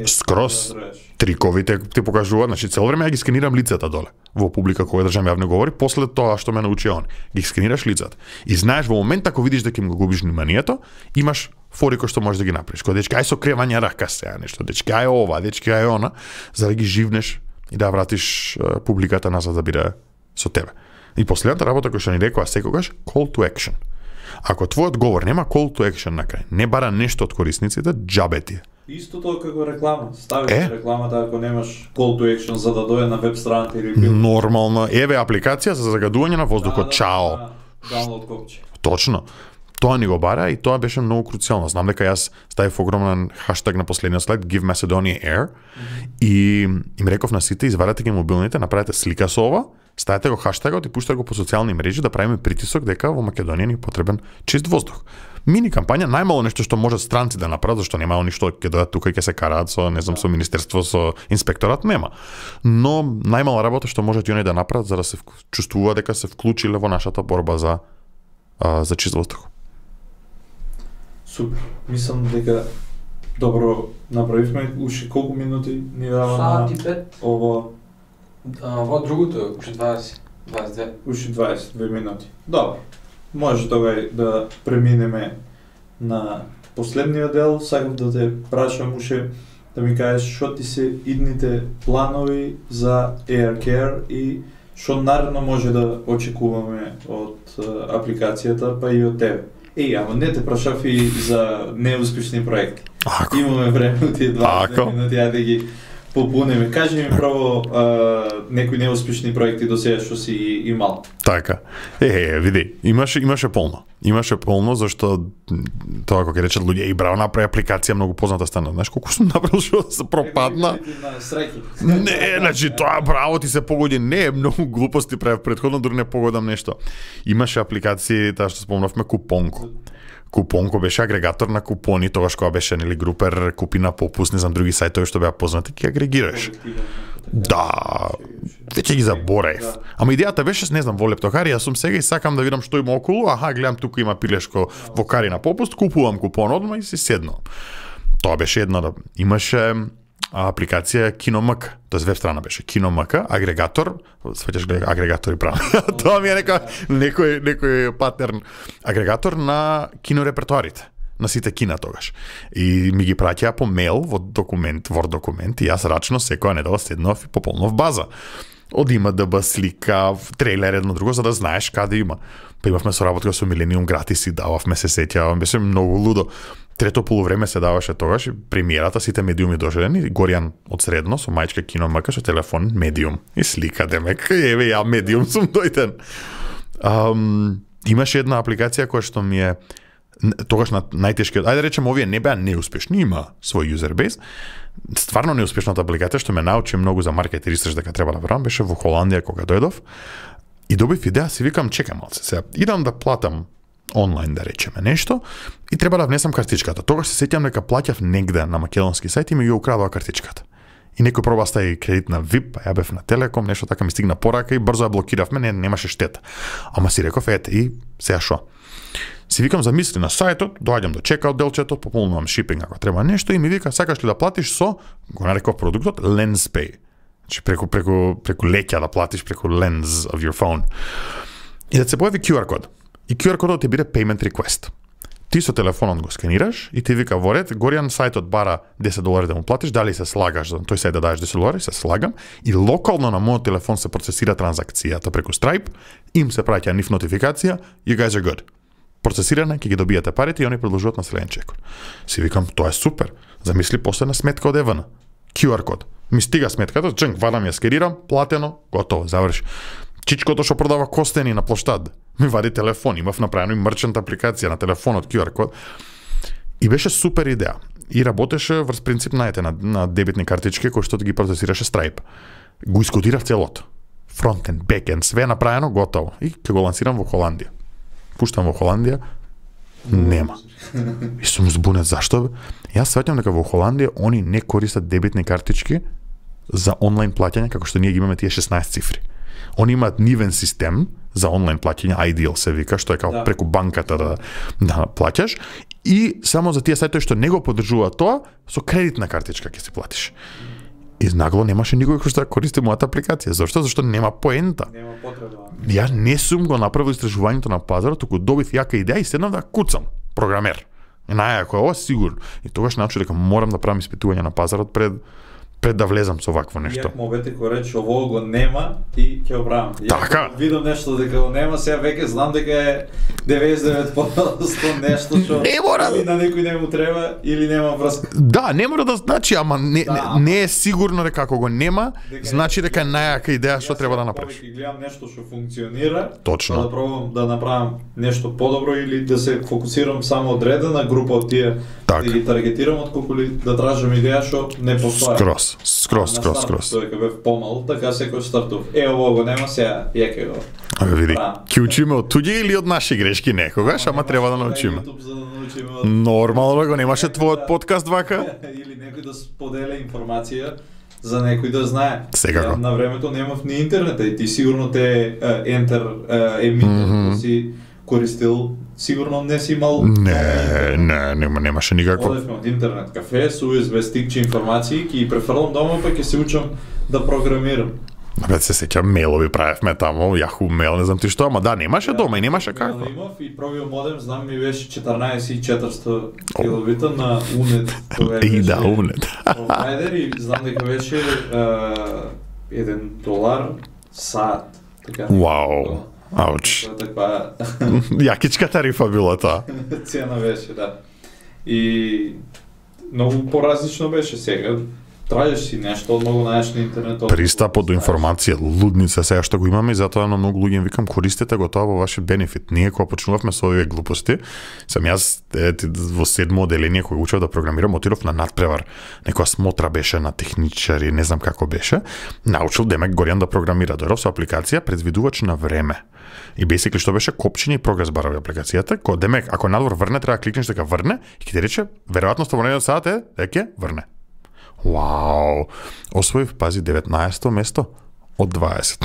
скроз. Да триковите ти покажуваат, значи цело време ја ги сканирам лицата доле во публика кога држам јавно говори, после тоа што ме научи он. Ги сканираш лицата. И знаеш во момент ако видиш дека им го губиш вниманието, имаш фори кои што можеш да ги направиш. Кога дечки ај со кревање рака сега нешто, дечки ај ова, дечки ај она, за да ги живнеш и да вратиш публиката назад да биде со тебе. И последната работа која што ни рекоа секогаш, call to action. Ако твојот говор нема call to action на крај, не бара нешто од корисниците, џабе ти. Истото како реклама. Ставиш рекламата ако немаш call to action за да дојде на веб страната или било. Нормално. Еве апликација за загадување на воздухот. Чао. Download копче. Точно. Тоа ни го бара и тоа беше многу круцијално. Знам дека јас ставив огромен хаштаг на последниот слайд Give Macedonia Air и им реков на сите извадете ги мобилните, направете слика со ова, ставете го хаштагот и пуштате го по социјални мрежи да правиме притисок дека во Македонија ни потребен чист воздух. Мини кампања, најмало нешто што можат странци да направат, зашто немао ништо ќе дојдат тука и ќе се караат со, не знам, со министерство, со инспекторат, нема. Но најмала работа што можат и они да направат за да се чувствува дека се вклучиле во нашата борба за чист воздух. Супер. Мислам дека добро направивме. Уште колку минути ни дава на ово? Во другото, уште 20, 22. Уште 22 минути. Добро. Може тогаш да преминеме на последниот дел. Сакав да те прашам уште да ми кажеш што ти се идните планови за AirCare и што наредно може да очекуваме од апликацијата, па и од тебе. Ама не те прашав и за неуспешни проекти. Имаме време од тие 20 минути, да ги попунеме. Кажи ми право некои неуспешни проекти до сега што си имал. Така. Види, имаше полно. Имаше полно зашто тоа како ќе речат луѓе и браво направи апликација многу позната стана. Знаеш колку сум направил што се пропадна? Не, значи тоа браво ти се погоди. Не, многу глупости правев претходно, дури не погодам нешто. Имаше апликации, таа што спомнавме, Купонко. Купонко беше агрегатор на купони, тогаш кога беше нели Групер, купи на попуст, не знам други сајтови што беа познати, ќе агрегираш. Да, веќе ги забораев. Ама идејата беше, не знам, во лептокари, јас сум сега и сакам да видам што има околу, гледам тука има пилешко во кари на попуст, купувам купон одма и си седнам. Тоа беше една, имаше апликација KinoMK, тоест веб страна беше KinoMK, агрегатор, свеќаш гледа агрегатори прави. Тоа ми е некој патерн, агрегатор на кинорепертуарите на сите кина тогаш. И ми ги праќаа по мејл во документ, Word документ, и јас рачно секоја недела седнав и пополнов база. Од ИМДБ, слика, трейлер, едно друго, за да знаеш каде има. Па имавме соработка со Милениум гратис и дававме, се сеќавам, беше многу лудо. Трето полувреме се даваше тогаш и премиерата, сите медиуми дожедени, Горјан од средно со мајчка KinoMK со телефон медиум и слика, демек, еве ја медиум сум дојден. Имаше една апликација која што ми е тогаш на најтешкиот, ајде речем овие не беа неуспешни, има свој user base. Стварно неуспешната апликација што ме научи многу за маркет и ресерч дека треба да правам беше во Холандија кога дојдов. И добив идеја, си викам чекам малце сега. Идам да платам онлайн да речеме нешто и треба да внесам картичката. Тогаш се сеќам дека плаќав негде на македонски сајт и ми ја украдоа картичката. И некој проба стави кредит на VIP, ја бев на Телеком, нешто така ми стигна порака и брзо ја блокиравме, немаше штета. Ама си реков ете и сега шо? Си викам замисли на сајтот, доаѓам до чекаут делчето, пополнувам шипинг ако треба нешто и ми вика сакаш ли да платиш со, го нареков продуктот LensPay. Значи преку леќа да платиш преку lens of your phone. И да се појави QR код. И QR кодот ти биде payment request. Ти со телефонот го сканираш и ти вика во ред, Горјан сајтот бара $10 да му платиш, дали се слагаш за тој сајт да дадеш $10, се слагам и локално на мојот телефон се процесира транзакцијата преку Stripe, им се праќа нив нотификација, you guys are good. Процесиране, ќе ги добиете парите и они продолжуваат на следен чекор. Си викам, тоа е супер. Замисли после на сметка од ЕВН. QR код. Ми стига сметката, вадам ја скерирам, платено, готово, заврши. Чичкото што продава костени на плоштад, ми вади телефон, имав направено и мерчант апликација на телефонот, QR код. И беше супер идеја. И работеше врз принцип на дебитни картички кои што ги процесираше Stripe. Го искодирав целото. Фронтенд, бекенд, све направено, готово. И ќе го лансирам во Холандија. Пуштам во Холандија, нема. И сум збунет, зашто? Јас сваќам дека во Холандија они не користат дебитни картички за онлайн плаќање како што ние ги имаме тие 16 цифри. Они имаат нивен систем за онлайн плаќање, Ideal се вика, што е како преку банката да плаќаш, и само за тие сајтови што не го поддржуваат тоа, со кредитна картичка ќе си платиш. И нагло немаше никој кој што користи мојата апликација. Зошто? Зашто нема поента. Нема потреба. Ја не сум го направил истражувањето на пазарот, туку добив јака идеја и седнав да куцам. Програмер. И најако е ова сигурно. И тогаш научив дека морам да правам испитување на пазарот пред да влезам со вакво нешто. Јак мовете кој рече ово го нема и ќе го правам. Така. Видам нешто дека го нема, сега веќе знам дека е 99% нешто што не мора или на некој не му треба или нема врска. Да, не мора да значи, ама не е сигурно дека ако го нема, значи дека е најака идеја што треба да направиш. Јас гледам нешто што функционира, точно. Да пробам да направам нешто подобро или да се фокусирам само одредена група од тие, да ги таргетирам отколку ли да тражам идеја што не постои. Скрос. Тој кога бев помал, така секој стартов. Ово го нема сега, ќе го. Види, ќе учиме од туѓи или од наши грешки некогаш, ама треба да научиме. Нормално го немаше твојот подкаст вака? Или некој да споделя информација за некој да знае. Секако. На времето немав ни интернет, и ти сигурно те ентер емитер си користил, сигурно не си имал. Немаше никакво. Одевме од интернет кафе, со USB стикче информации, ќе ги префрлам дома, па ќе се учам да програмирам. Бе, се сеќам, мейлови правевме таму, Yahoo мейл, не знам ти што, ама да, немаше дома и немаше како. Имав и пробио модем, знам ми беше 14400 килобита на Unet. И да, Unet. Провайдер и знам дека беше $1 саат. Вау. Ауч. Јакичка тарифа била тоа. Цена беше, да. И многу поразлично беше сега. Трајаш си нешто, многу најаш на интернет. Пристапот до информација, лудница сега што го имаме, и затоа на многу луѓе им викам, користете го тоа во вашиот бенефит. Ние кога почнувавме со овие глупости, сам јас во 7-о оделение кога учев да програмирам, отидов на надпревар. Некоја смотра беше на техничари, не знам како беше. Научил демек Горјан да програмира. Дојдов со апликација предвидувач на време. И basically што беше копчење и прогрес барови апликацијата, кој демек ако надвор врне треба да кликнеш дека врне и ќе ти рече веројатноста во нареден сат е дека врне. Вау! Освоив, пази, 19-то место од 20.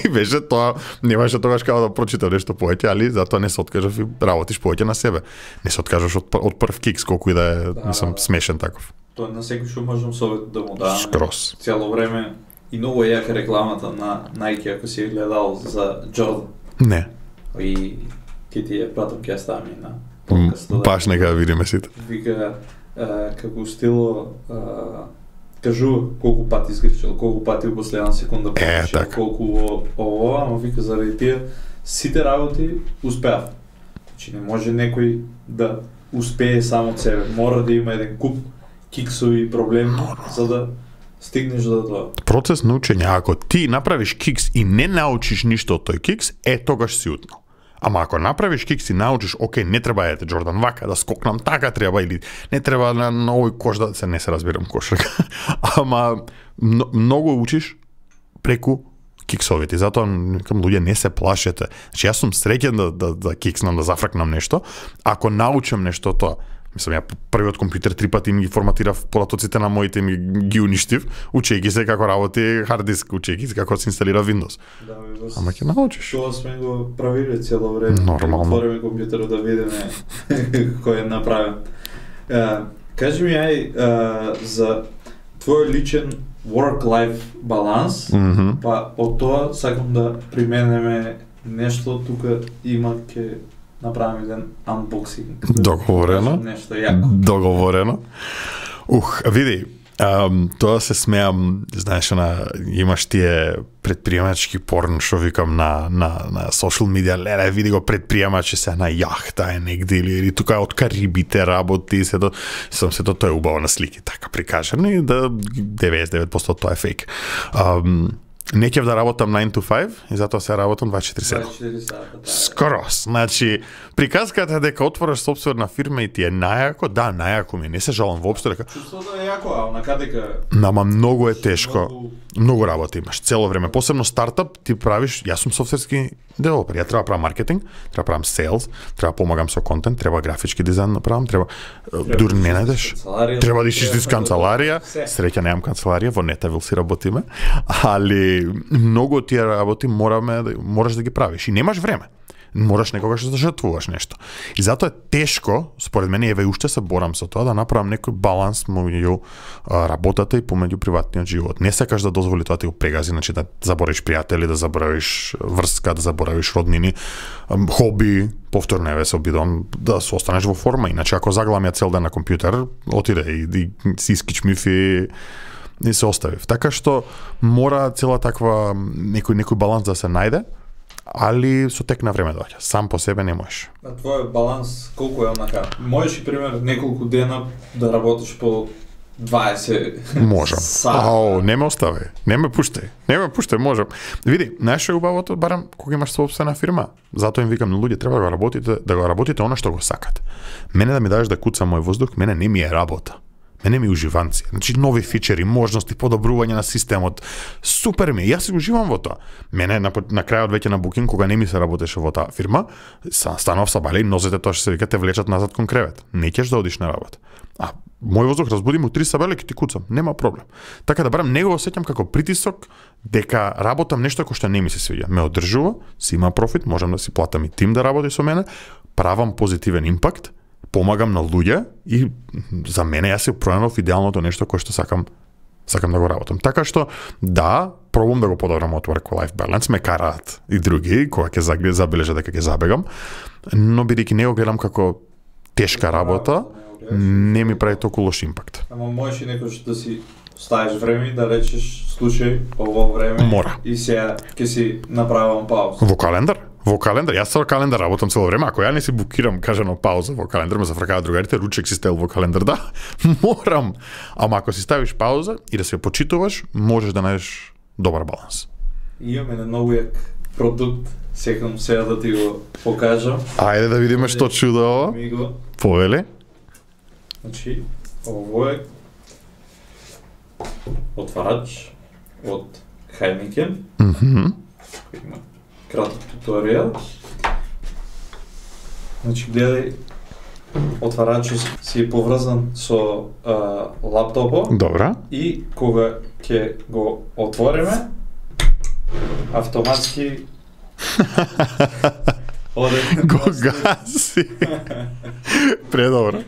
И беше тоа, немаше тогаш како да прочитам нешто повеќе, али затоа не се откажав и работиш повеќе на себе. Не се откажаш од прв кикс, колку и да е, мислам, смешен таков. Тоа на секој што можам совет да му дам. Скрос. Цело време и многу е јака рекламата на Nike, ако си гледал за Jordan. Не. И ке ти ја пратам, ќе ја ставам и на подкастот. Баш нека да видиме сите. Вика, како стило, кажува колку пати изгрешил, колку пати во последна секунда погрешил, колку ово, ама вика заради тие сите работи успеав. Значи не може некој да успее само од себе, мора да има еден куп киксови проблеми за да стигнеш до тоа. Процес на учење, ако ти направиш кикс и не научиш ништо од тој кикс, тогаш си утнал. Ама ако направиш кикс и научиш, окей, не треба ете Джордан вака да скокнам, така треба, или не треба на овој кош да се не се разбирам кошарка. Ама многу учиш преку киксовите. Затоа викам луѓе не се плашете. Значи јас сум среќен да кикснам, да зафракнам нешто, ако научам нешто тоа. Мислам, ја првиот компјутер 3 пати ми ги форматирав полатоците на моите, ми ги уништив, учејќи се како работи хард диск, учејќи се како се инсталира Windows. Да, ама ќе научиш. Тоа сме го правиле цело време. Нормално. Отвориме компјутерот да видиме кој е направен. Кажи ми за твој личен work-life баланс, па од тоа сакам да применеме нешто тука има ке направам еден unboxing. Договорено. Нешто јако. Договорено. Види, тоа се смеам, знаеш, имаш тие предприемачки порн, што викам на social media, леле, види го предприемач се на јахта е негде или тука од Карибите работи, сето тоа е убаво на слики, така прикажано и да 99% тоа е фейк. Не ќе да работам 9 to 5 и затоа се работам 24/7. 24 сата. Скорос. Значи, приказката дека отвориш сопствена фирма и ти е најако, да, најако ми, не се жалам воопшто дека. Чувството е јако, а на дека Нама многу е тешко. Многу работа имаш цело време. Посебно стартап ти правиш, јас сум софтверски девелопер, ја треба правам маркетинг, треба правам селс, треба помагам со контент, треба графички дизајн направам, треба дури не најдеш. Треба да ишиш из канцеларија. Среќа немам канцеларија, во Нетавил си работиме, али многу од тие работи мораш да ги правиш и немаш време. Мораш некогаш да жртвуваш нешто. И затоа е тешко, според мене, еве уште се борам со тоа да направам некој баланс меѓу работата и помеѓу приватниот живот. Не сакаш да дозволи тоа ти го прегази, значи да заборавиш пријатели, да заборавиш врска, да заборавиш роднини, хоби, повторно еве се обидувам да се останеш во форма, иначе ако заглам ја цел ден на компјутер, отиде и си искичмив и се оставив. Така што мора цела таква некој баланс да се најде, али со тек на време доаѓа. Сам по себе не можеш. А твојот баланс колку е онака? Можеш и пример неколку дена да работиш по 20 Можам. сата. Не ме остави. Не ме пуштај, можам. Види, најше убавото барам кога имаш собствена фирма. Затоа им викам на луѓе, треба да го работите она што го сакате. Мене да ми дадеш да куцам мој воздух, мене не ми е работа. Мене ми уживанци. Значи нови фичери, можности, подобрување на системот. Супер ми, јас си уживам во тоа. Мене на крајот веќе на Booking, кога не ми се работеше во таа фирма, станав са бали, нозете тоа што се вика те влечат назад кон кревет. Не ќеш да одиш на работа. А мој воздух разбуди му 3 сабеле ќе ти куцам, нема проблем. Така да барам него осеќам како притисок дека работам нешто кој што не ми се свиѓа. Ме одржува, си има профит, можам да си платам и тим да работи со мене, правам позитивен импакт, помагам на луѓе и за мене јас се пронајдов идеалното нешто кое што сакам да го работам. Така што да, пробам да го подобрам од work-life balance, ме караат и други кога ќе забележа дека ќе забегам, но бидејќи не го гледам како тешка работа, не ми прави толку лош импакт. Ама можеш и некој да си ставиш време и да речеш слушај ово време Мора. И сега ќе си направам пауза. Во календар, јас со календар работам цело време, ако ја не си букирам кажано пауза во календар, ме зафркаат другарите, ручек си стел во календар, да, морам. Ама ако си ставиш пауза и да се почитуваш, можеш да најдеш добар баланс. Имаме на многу јак продукт, секам сега да ти го покажам. Ајде да видиме што чудо ова. Ми го. Повели. Значи, ово е отварач од Heineken. Има краток туторијал. Значи, гледај, отварачот си е поврзан со лаптопот. Добра. И кога ќе го отвориме, автоматски го гаси. Предобро.